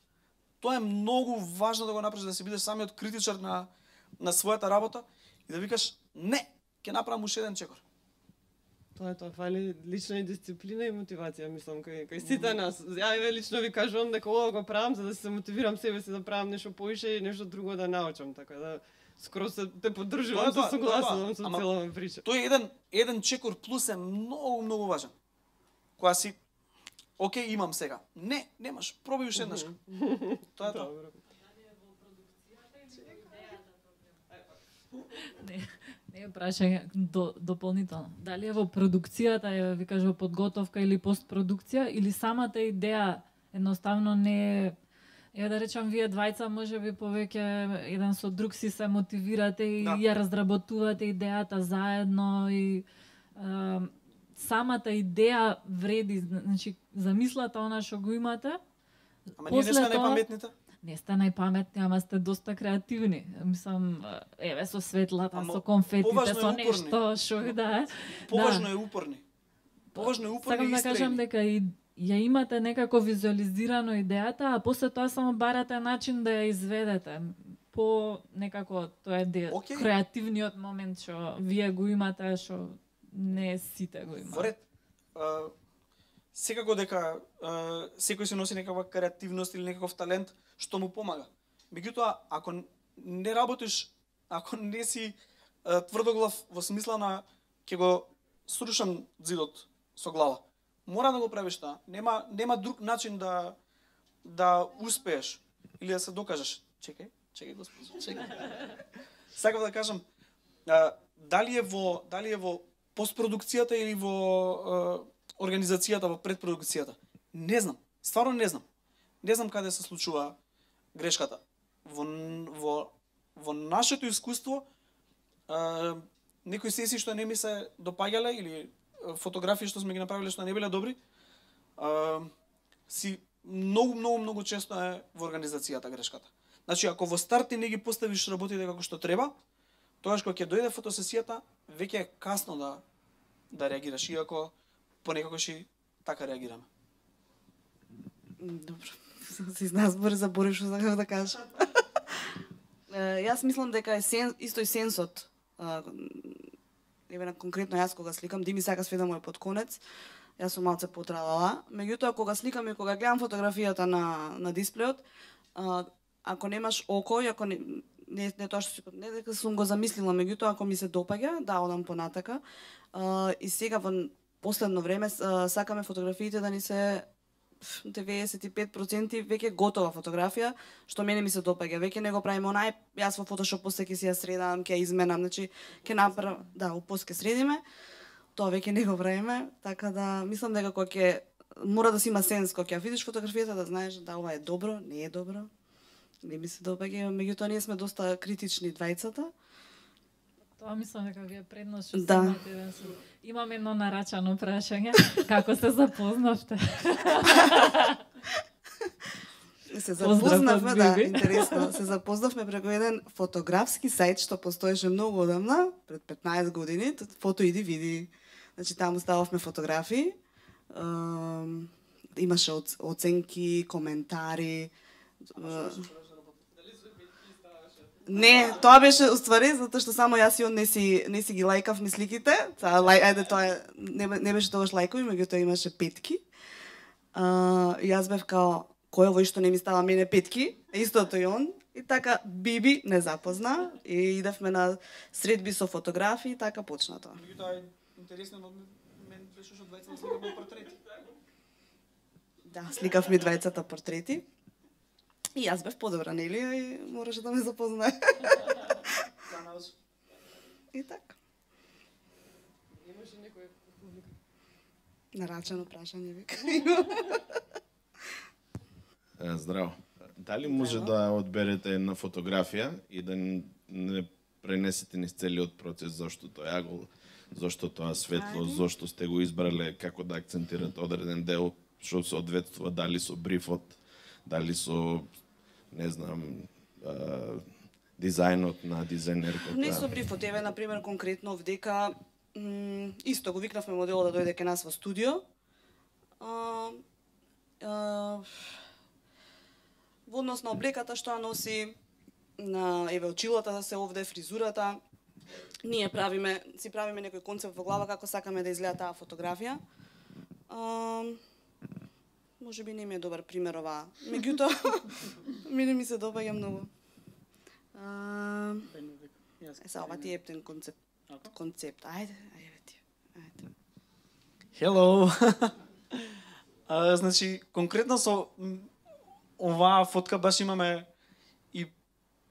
Тоа е многу важно да го направиш, да си бидеш самиот критичар на на својата работа и да викаш не, ќе направам уште еден чекор. Тоа е тоа, фали лична и дисциплина и мотивација, мислам, кај, кај сите нас. Ја еве лично ви кажувам дека ова го правам за да се мотивирам себе си да правам нешто поише и нешто друго да научам, така да скроз се те поддржувам, се согласувам со целава прича. Тој еден еден чекор плюс е многу многу важен. Кога си окей, имам сега. Не, немаш, пробај уште еднаш. Тоа е тоа. Не, не е прашање до, дополнително. Дали е во продукцијата, е, ви кажа, подготовка или постпродукција, или самата идеја едноставно не е, е да речам, вие двајца може би повеќе еден со друг си се мотивирате и да. Ја разработувате идејата заедно и е, самата идеја вреди, значи замислата она што го имате. Ама ние не сме најпаметните? Не сте најпаметни, ама сте доста креативни. Мислам, еве со светлата, ама, со конфетите, со нешто што да е. Поважно да. е упорни. Поважно е упорни. Сакам да кажам дека и ја имате некако визуализирано идејата, а после тоа само барате начин да ја изведете. По некако тоа е де, okay. креативниот момент што вие го имате, што не сите го имаат. Воред, а, секако дека а, секој се носи некаква креативност или некаков талент што му помага. Меѓутоа, ако не работиш, ако не си а, тврдоглав во смисла на ќе го срушам зидот со глава, мора да го правиш тоа. Нема нема друг начин да да успееш или да се докажеш. Чекај, чекај господи, чекај. Сакав да кажам, а, дали е во дали е во постпродукцијата или во а, организацијата, во предпродукцијата. Не знам, стварно не знам. Не знам каде се случува грешката. Во во во нашето искуство а, некои сесии што не ми се допаѓале или фотографии што сме ги направиле што не биле добри, а, си многу многу многу често е во организацијата грешката. Значи ако во старт ти не ги поставиш работите како што треба, тогаш кога ќе дојде фотосесијата, веќе е касно да да реагираш, иако понекогаш и така реагираме. Добро. Се изназбори заборив што сакав да кажам. Јас мислам дека е сен, исто и сенсот. Еве на конкретно јас кога сликам, Дими сака све да му е под конец. Јас сум малце потралала. Меѓутоа кога сликам и кога гледам фотографијата на на дисплеот, а, ако немаш око и ако не не, не тоа што си не дека сум го замислила, меѓутоа ако ми се допаѓа, да одам понатака. А, и сега во последно време а, сакаме фотографиите да ни се деветдесет и пет проценти веќе готова фотографија, што мене ми се допаѓа. Веќе не го правиме онај, јас во Photoshop после ќе си ја средам, ќе ја изменам, значи ќе направам, да, упос ќе средиме. Тоа веќе не го правиме, така да мислам дека кога ќе мора да си има сенс кога ќе видиш фотографијата да знаеш да ова е добро, не е добро. Не ми се допаѓа, меѓутоа ние сме доста критични двајцата. Тоа мислам дека ви е предност што Да. имате еден со... Имам едно нарачано прашање. Како се запознавте? Се Поздрав запознавме, од да, Биби. интересно. Се запознавме преку еден фотографски сајт што постоеше многу одамна, пред петнаесет години, фото иди види. Значи таму стававме фотографии. Ем, имаше оц- оценки, коментари. Е, Не, тоа беше уствари затоа што само јас и он не си не си ги лајкавме сликите. Та лај, ајде тоа е- не, не беше тогаш лајкови, меѓутоа имаше петки. А, и јас бев као кој овој што не ми става мене петки, истото и он. И така Биби не запозна и идевме на средби со фотографии, така почна тоа. Меѓутоа интересно од мен беше што двајцата сликаме портрети. Да, сликавме двајцата портрети. И јас бев подобра, нели? И мораше да ме запознае. И така. Имаше некој публика. Нарачано прашање вика. Е, Здраво. Дали може да одберете една фотографија и да н- не пренесете низ целиот процес, зошто тоа агол, зошто тоа светло, Ајде. зошто сте го избрале, како да акцентирате одреден дел, што соодветствува дали со брифот, дали со, не знам, а, дизајнот на дизајнерката. Не со брифот, еве на пример конкретно вдека м, исто го викнавме моделот да дојде кај нас во студио. А, а, во однос на облеката што ја носи, на еве очилата да се овде, фризурата, ние правиме, си правиме некој концепт во глава како сакаме да изгледа таа фотографија. А, може би не ми е добар пример ова. Меѓутоа, мене ми се допаѓа многу. А, Е, са, ова ти е ептен концепт. Концепт. Ајде, ајде ти. Ајде. Hello. а, значи, конкретно со м, оваа фотка баш имаме и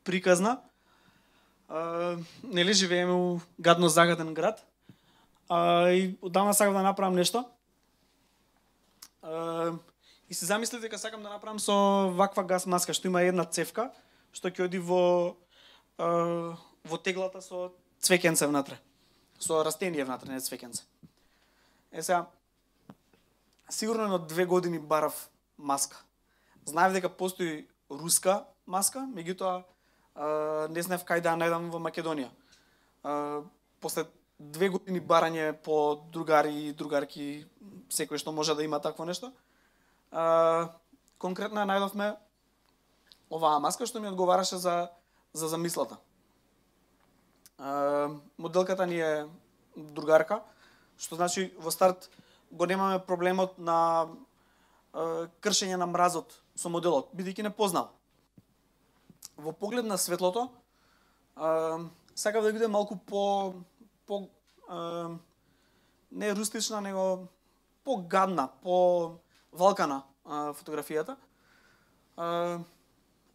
приказна. А, нели живееме у гадно загаден град. А, и одамна сакам да направам нешто. А, и се замислив дека сакам да направам со ваква газ маска што има една цевка што ќе оди во а, во теглата со цвеќенце внатре. Со растение внатре, не цвеќенце. Е сега, сигурно на две години барав маска. Знаев дека постои руска маска, меѓутоа а, не знаев кај да ја најдам во Македонија. А, после две години барање по другари и другарки, секој што може да има такво нешто, а, конкретно ја најдовме оваа маска што ми одговараше за за замислата. А, моделката ни е другарка, што значи во старт го немаме проблемот на е, кршење на мразот со моделот, бидејќи не познал. Во поглед на светлото, е, сакав да биде малку по по е, не рустична, него по-гадна, по-валкана е, фотографијата. Е,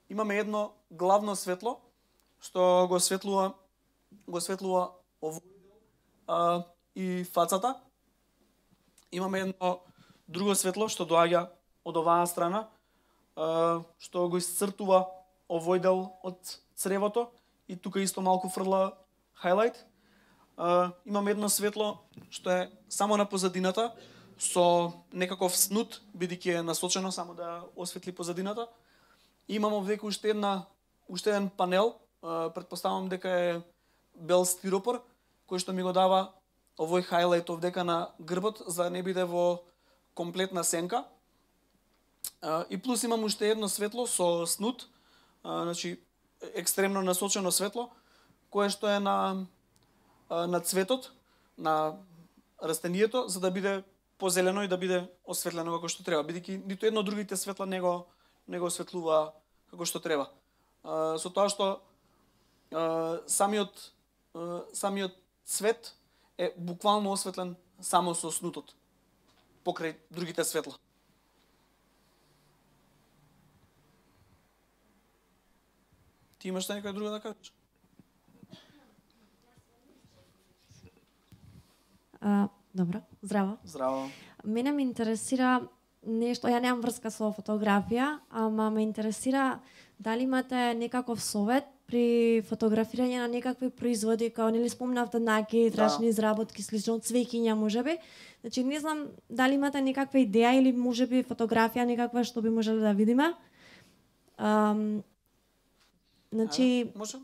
имаме едно главно светло што го осветлува го осветлува овој и фацата. Имаме едно друго светло што доаѓа од оваа страна, а, што го исцртува овој дел од цревото и тука исто малку фрла хайлайт. А, имаме едно светло што е само на позадината со некаков снут, бидејќи е насочено само да осветли позадината. И имаме овдека уште една уште еден панел, а, претпоставам дека е бел стиропор, кој што ми го дава овој хайлайт овдека на грбот, за да не биде во комплетна сенка. И плюс имам уште едно светло со снут, значи екстремно насочено светло, кое што е на, на цветот, на растението, за да биде позелено и да биде осветлено како што треба, бидејќи ниту едно од другите светла не го, не го осветлува како што треба. Со тоа што самиот самиот цвет е буквално осветлен само со снутот покрај другите светла. Ти имаш некоја друга да кажеш? А, добро, здраво. Здраво. Мене ме интересира нешто, ја немам врска со фотографија, ама ме интересира дали имате некаков совет при фотографирање на некакви производи, као нели спомнавте наки, трачни изработки, слично цвеќиња можеби. Значи не знам дали имате некаква идеја или можеби фотографија некаква што би можеле да видиме. Ам, значи а, може?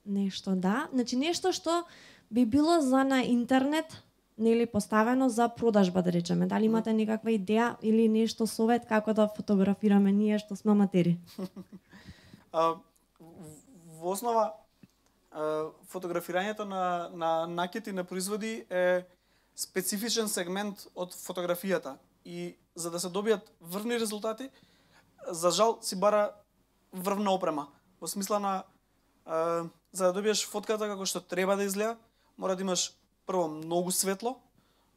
Нешто да, значи нешто што би било за на интернет, нели поставено за продажба, да речеме. Дали имате некаква идеја или нешто совет како да фотографираме ние што сме аматери? А, во основа фотографирањето на на накити на производи е специфичен сегмент од фотографијата и за да се добијат врвни резултати, за жал си бара врвна опрема. Во смисла на а, за да добиеш фотката како што треба да изгледа, мора да имаш прво многу светло,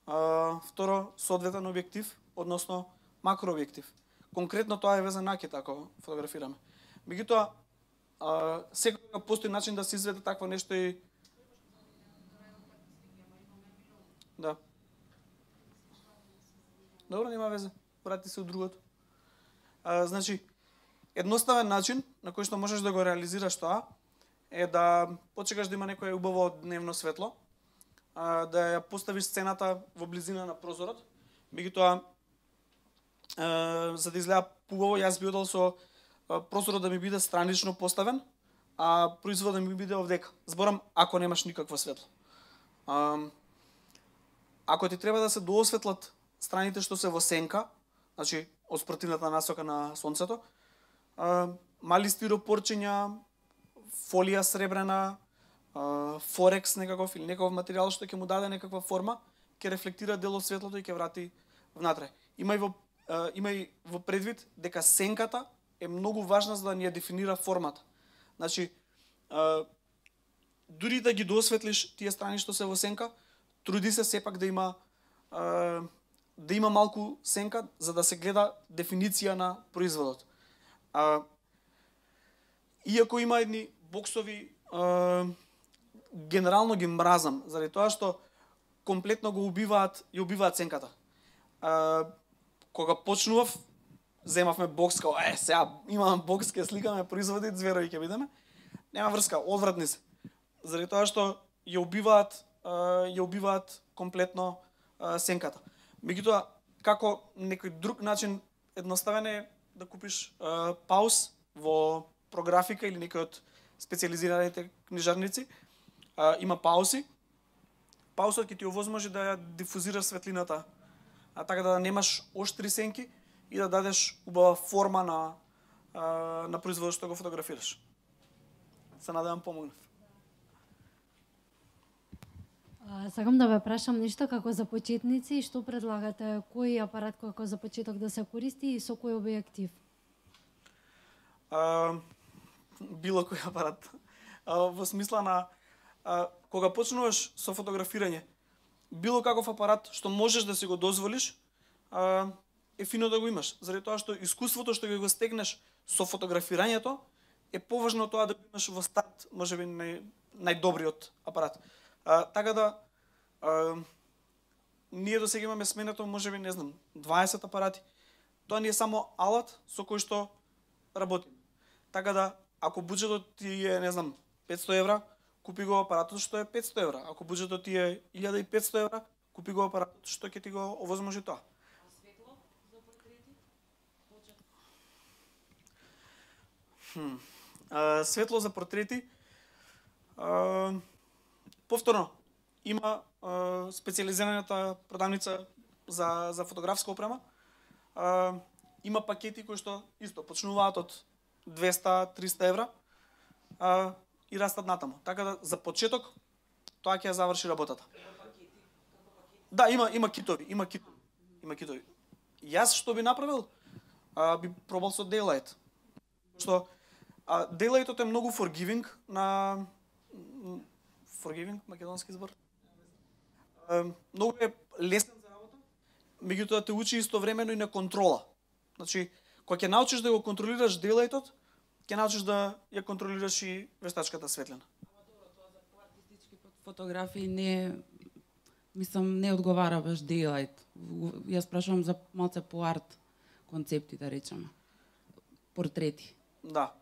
а, второ соодветен објектив, односно макрообјектив. Конкретно тоа е везен накит ако фотографираме. Меѓутоа, секогаш постои начин да се изведе такво нешто и да. Добро, нема везе. Врати се од другото. А, значи, едноставен начин на кој што можеш да го реализираш тоа е да почекаш да има некое убаво дневно светло, а, да ја поставиш сцената во близина на прозорот. Меѓутоа, за да изгледа убаво, јас би одел со прозорот да ми биде странично поставен, а производот да ми биде овдека. Зборам ако немаш никакво светло. А, ако ти треба да се доосветлат страните што се во сенка, значи од спротивната насока на сонцето, а, мали стиропорчиња, фолија сребрена, а, форекс некаков или некаков материјал што ќе му даде некаква форма, ќе рефлектира дел од светлото и ќе врати внатре. Има и во а, има и во предвид дека сенката е многу важна за да ни ја дефинира формата. Значи, а, дури да ги доосветлиш тие страни што се во сенка, труди се сепак да има а, да има малку сенка за да се гледа дефиниција на производот. А, иако има едни боксови, а, генерално ги мразам, заради тоа што комплетно го убиваат, ја убиваат сенката. А, кога почнував, земавме бокс, као, е, сега имам бокс, ке сликаме производи, зверови ќе бидеме. Нема врска, одвратни се. Заради тоа што ја убиваат, ја убиваат комплетно сенката. Меѓутоа, како некој друг начин едноставен е да купиш пауз во прографика или некој од специализираните книжарници. Има паузи. Паузот ќе ти овозможи да ја дифузираш светлината, а така да немаш оштри сенки и да дадеш убава форма на на производот што го фотографираш. Се надевам помогнав. А, сакам да ве прашам нешто како за почетници, што предлагате, кој апарат како за почеток да се користи и со кој објектив? А, било кој апарат. А, во смисла на а, кога почнуваш со фотографирање, било каков апарат што можеш да си го дозволиш, а, е фино да го имаш. Заради тоа што искуството што го стекнеш со фотографирањето е поважно од тоа да го имаш во старт, можеби нај, најдобриот апарат. А, така да а, ние до сега имаме сменето можеби не знам дваесет апарати. Тоа ни е само алат со кој што работи. Така да ако буџетот ти е не знам петсто евра, купи го апаратот што е петсто евра. Ако буџетот ти е илјада и петсто евра, купи го апаратот што ќе ти го овозможи тоа. А светло за портрети? Хм. А, светло за портрети. А, повторно има а, специјализираната продавница за за фотографска опрема. А, има пакети кои што исто почнуваат од двеста до триста евра. А, и растат натаму. Така да за почеток тоа ќе ја заврши работата. Да, има има китови, има китови. Има китови. Јас што би направил? А, би пробал со Daylight. Што а, Daylightот е многу forgiving на forgiving македонски збор. А, многу е лесен за работа, меѓутоа те учи истовремено и на контрола. Значи, кога ќе научиш да го контролираш Daylightот, ќе научиш да ја контролираш и вештачката светлина. Ама добро, тоа за поартистички фотографии не мислам не одговара баш Daylight. Јас прашувам за малце по арт концепти, да речеме. Портрети. Да,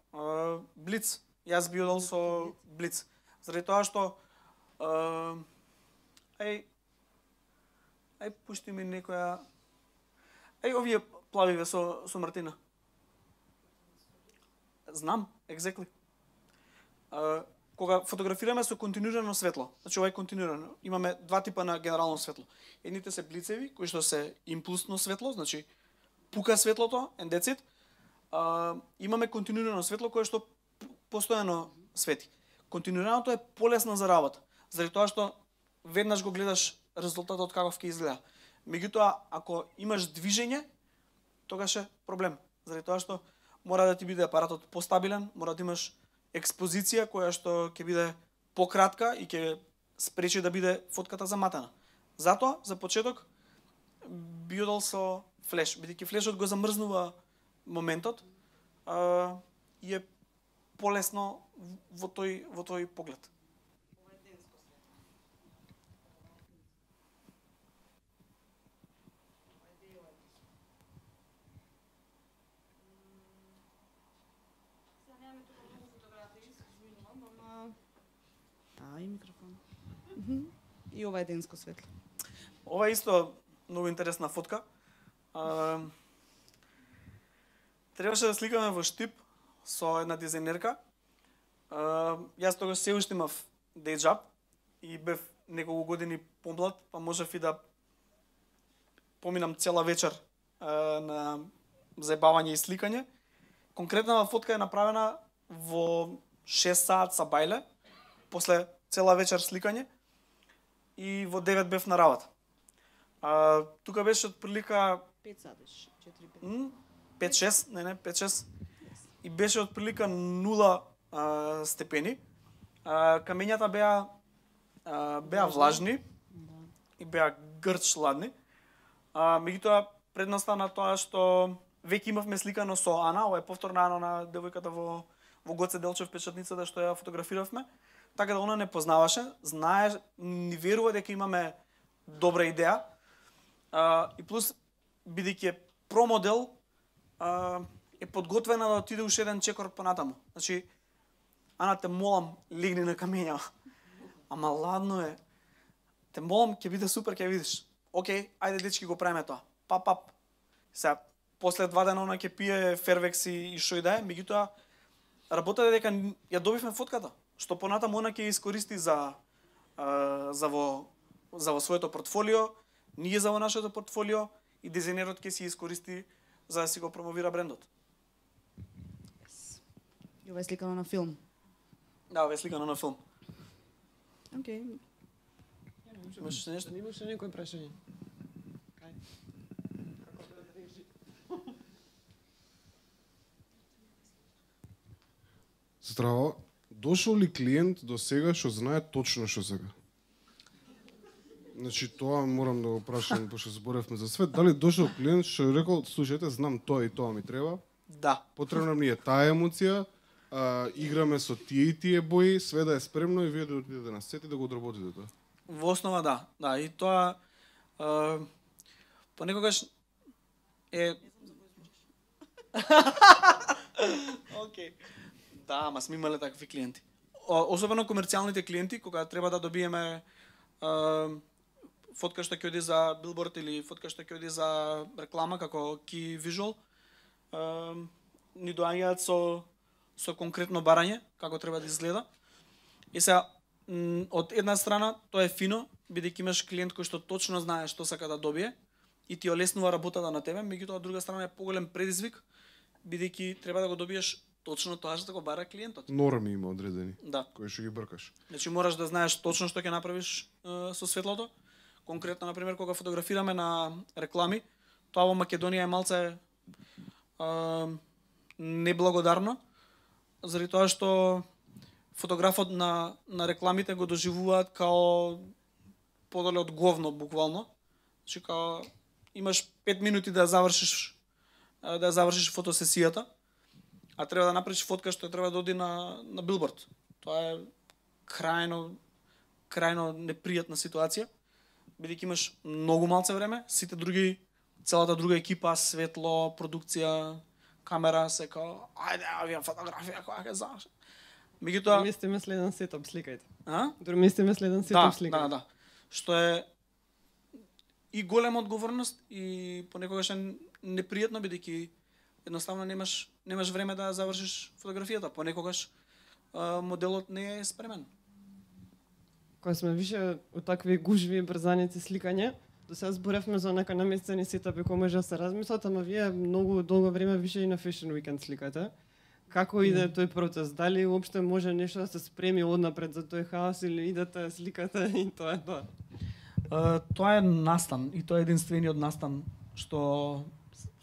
Блиц. Јас би одел со Блиц. Заради тоа што ај ај пушти ми некоја ај овие плавиве со со Мартина. Знам, exactly. Uh, кога фотографираме со континуирано светло, значи ова е континуирано, имаме два типа на генерално светло. Едните се блицеви, кои што се импулсно светло, значи пука светлото, and that's it. Uh, имаме континуирано светло кое што постојано свети. Континуираното е полесно за работа, заради тоа што веднаш го гледаш резултатот каков ќе изгледа. Меѓутоа, ако имаш движење, тогаш е проблем, заради тоа што мора да ти биде апаратот постабилен, мора да имаш експозиција која што ќе биде пократка и ќе спречи да биде фотката заматена. Затоа, за почеток, би одел со флеш, бидејќи флешот го замрзнува моментот а, и е полесно во тој во тој поглед. А, и микрофон. И ова е денско светло. Ова е исто многу интересна фотка. А, требаше да сликаме во Штип со една дизајнерка. А, јас тогаш се уште имав day job и бев неколку години помлад, па можев и да поминам цела вечер а, на заебавање и сликање. Конкретната фотка е направена во шест саат са бајле, после цела вечер сликање и во девет бев на работа. А, тука беше отприлика пет сати, четири пет. пет шест, не не, пет шест. И беше отприлика нула а, степени. А, камењата беа а, беа влажни и беа грч ладни. А, меѓутоа предноста на тоа што веќе имавме сликано со Ана, ова е повторна Ана на девојката во во Гоце Делчев печатницата што ја фотографиравме. Така да она не познаваше, знае, ни верува дека имаме добра идеја. А, и плюс, бидејќи е промодел, а, е подготвена да отиде уште еден чекор понатаму. Значи, Ана, те молам, легни на камења. Ама ладно е. Те молам, ќе биде супер, ќе видиш. Океј, ајде дечки го правиме тоа. Пап, пап. Сега, после два дена она ќе пие фервекс и, и шо и да е, меѓутоа, работата дека ја добивме фотката, што понатаму она ќе искористи за а, за во за во своето портфолио, ние за во нашето портфолио и дизајнерот ќе си искористи за да си го промовира брендот. Yes. И ова е сликано на филм. Да, ова е сликано на филм. Океј. Имаш нешто? Имаш некој прашање? Кај? Здраво, дошол ли клиент до сега што знае точно што сака? Значи тоа морам да го прашам, пошто зборевме за свет, дали дошол клиент што рекол, слушајте, знам тоа и тоа ми треба. Да. Потребна ми е таа емоција, а, играме со тие и тие бои, све да е спремно и вие да отидете на сет и да го одработите тоа. Во основа да, да, и тоа а, понекогаш е Океј. Да, ама сме имале такви клиенти. О, особено комерцијалните клиенти кога треба да добиеме а, фотка што ќе оди за билборд или фотка што ќе оди за реклама како key visual, а, ни доаѓаат со со конкретно барање како треба да изгледа. И сега од една страна тоа е фино, бидејќи имаш клиент кој што точно знае што сака да добие и ти олеснува работата на тебе, меѓутоа од друга страна е поголем предизвик, бидејќи треба да го добиеш точно тоа што го бара клиентот. Норми има одредени, да, кои што ги бркаш. Значи мораш да знаеш точно што ќе направиш е, со светлото. Конкретно, например, кога фотографираме на реклами, тоа во Македонија е малце е, неблагодарно, заради тоа што фотографот на, на рекламите го доживуваат као подоле од говно, буквално. Значи, као имаш пет минути да завршиш да завршиш фотосесијата, а треба да направиш фотка што треба да оди на, на билборд. Тоа е крајно, крајно непријатна ситуација, бидејќи имаш многу малце време, сите други, целата друга екипа, светло, продукција, камера, се као, ајде, авија фотографија, која ќе заврши. Меѓутоа, Дормистиме следен сетап, сликајте. А? Дормистиме следен сетап, сликајте. Да, да, да. Што е и голема одговорност и понекогаш е непријатно, бидејќи едноставно немаш немаш време да завршиш фотографијата, понекогаш а, моделот не е спремен. Кога сме више од такви гужви брзаници сликање, до сега зборевме за нека наместени сетапи кои може да се размислат, ама вие многу долго време више и на Fashion Weekend сликате. Како иде тој процес? Дали уопште може нешто да се спреми однапред за тој хаос или идете, сликате и тоа е тоа? Uh, тоа е настан и тоа е единствениот настан што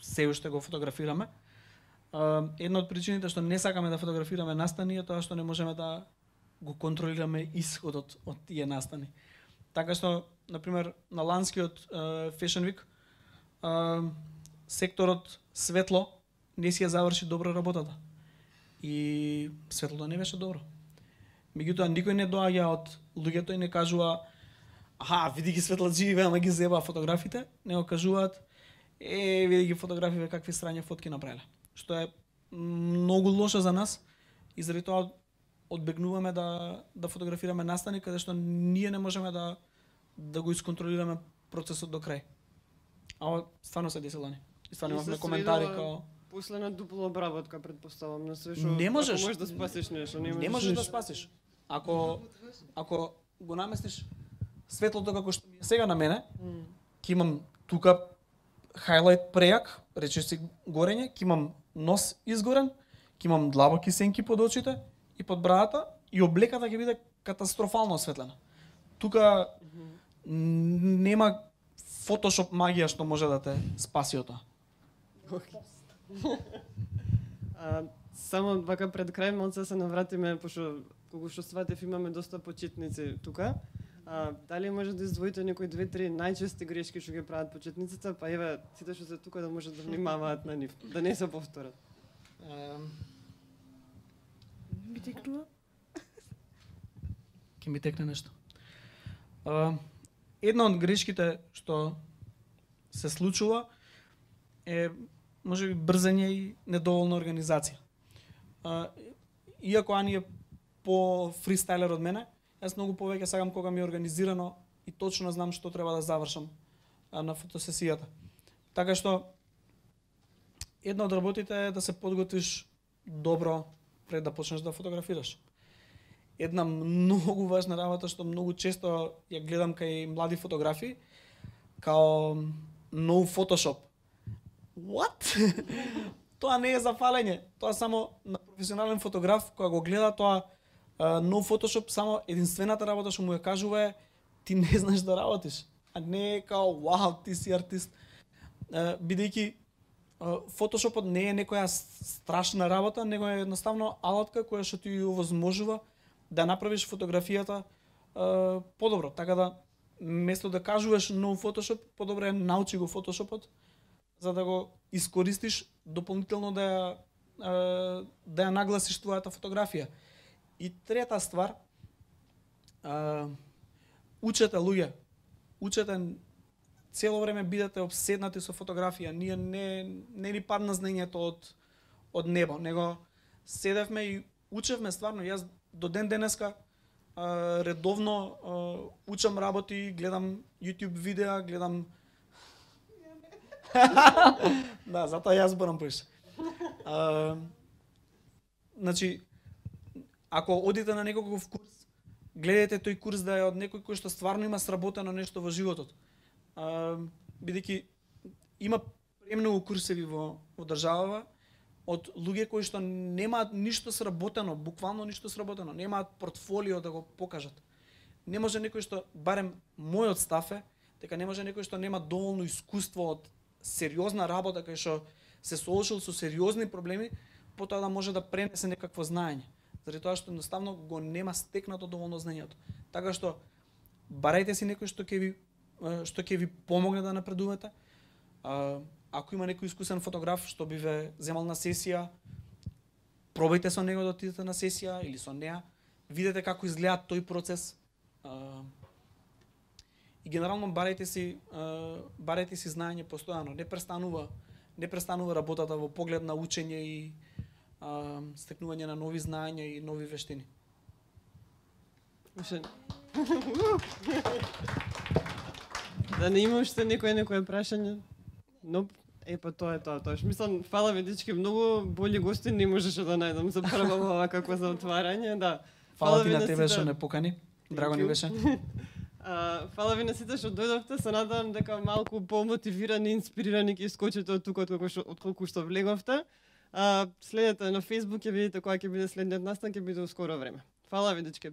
се уште го фотографираме. Uh, една од причините што не сакаме да фотографираме настани е тоа што не можеме да го контролираме исходот од тие настани. Така што, например, на ланскиот uh, Fashion Week uh, секторот светло не си ја заврши добро работата. И светлото не беше добро. Меѓутоа никој не доаѓа од луѓето и не кажува аха, види ги светладживи, ама ги зеба фотографите, не го кажуваат е, види ги фотографиве какви срања фотки направиле. Што е многу лошо за нас и заради тоа одбегнуваме да да фотографираме настани каде што ние не можеме да да го исконтролираме процесот до крај. А стварно се десило не. И стварно имавме коментари као после на дупла обработка, предпоставам, на све што не можеш, можеш да спасиш нешто, не можеш, не можеш нешто. да спасиш. Ако ако го наместиш светлото како што ми е сега на мене, Mm. ќе имам тука хайлайт прејак, речиси горење, ќе имам нос изгорен, ќе имам длабоки сенки под очите и под брадата и облеката ќе биде катастрофално осветлена. Тука нема фотошоп магија што може да те спаси од тоа. А, само вака пред крај малце се навратиме, пошто колку што сватев имаме доста почетници тука. А, дали може да издвоите некои две-три најчести грешки што ги прават почетниците, па еве сите што се тука да може да внимаваат на нив, да не се повторат. Ми текнува? Ке ми текне нешто. А, една од грешките што се случува е можеби брзање и недоволна организација. А, иако Ани е по фристайлер од мене, јас многу повеќе сакам кога ми е организирано и точно знам што треба да завршам а, на фотосесијата. Така што една од работите е да се подготвиш добро пред да почнеш да фотографираш. Една многу важна работа што многу често ја гледам кај млади фотографи, као no Photoshop. What? Тоа не е за фалење. Тоа само на професионален фотограф кога го гледа тоа uh, no Photoshop, само единствената работа што му ја кажува е ти не знаеш да работиш, а не е као вау, ти си артист. Uh, бидејќи uh, фотошопот не е некоја страшна работа, него е едноставно алатка која што ти ја овозможува да направиш фотографијата uh, подобро. Така да место да кажуваш нов фотошоп, подобро е научи го фотошопот за да го искористиш дополнително да ја uh, да ја нагласиш твојата фотографија. И трета ствар, uh, учете луѓе, учете, цело време бидете обседнати со фотографија. Ние не не ни падна знаењето од од небо, него седевме и учевме стварно. Јас до ден денеска а, редовно а, учам работи, гледам YouTube видеа, гледам да, затоа јас зборам поише. А, значи, ако одите на некој курс, гледајте тој курс да е од некој кој што стварно има сработено нешто во животот. Uh, бидејќи има премногу курсеви во, во државава од луѓе кои што немаат ништо сработено, буквално ништо сработено, немаат портфолио да го покажат. Не може некој што, барем мојот став е, дека не може некој што нема доволно искуство од сериозна работа, кај што се соочил со сериозни проблеми, потоа да може да пренесе некакво знаење. Заради тоа што едноставно го нема стекнато доволно знаењето. Така што барајте си некој што ќе ви што ќе ви помогне да напредувате. А, ако има некој искусен фотограф што би ве земал на сесија, пробајте со него да отидете на сесија или со неа, видете како изгледа тој процес. А, и генерално барајте си а, барајте си знаење постојано, не престанува не престанува работата во поглед на учење и а, стекнување на нови знаења и нови вештини. Да не има уште некој некој прашање? Но е па тоа е тоа, тоа. Мислам, фала ви дечки, многу боли гости не можеше да најдам за прва ова како за отварање, да. Фала ти на тебе што не покани. Драго ни беше. А, фала ви на сите што дојдовте, се надевам дека малку помотивирани, инспирирани ќе искочите од тука од што од колку што влеговте. А, следете на Facebook, ќе видите кога ќе биде следниот настан, ќе биде у скоро време. Фала ви дечки.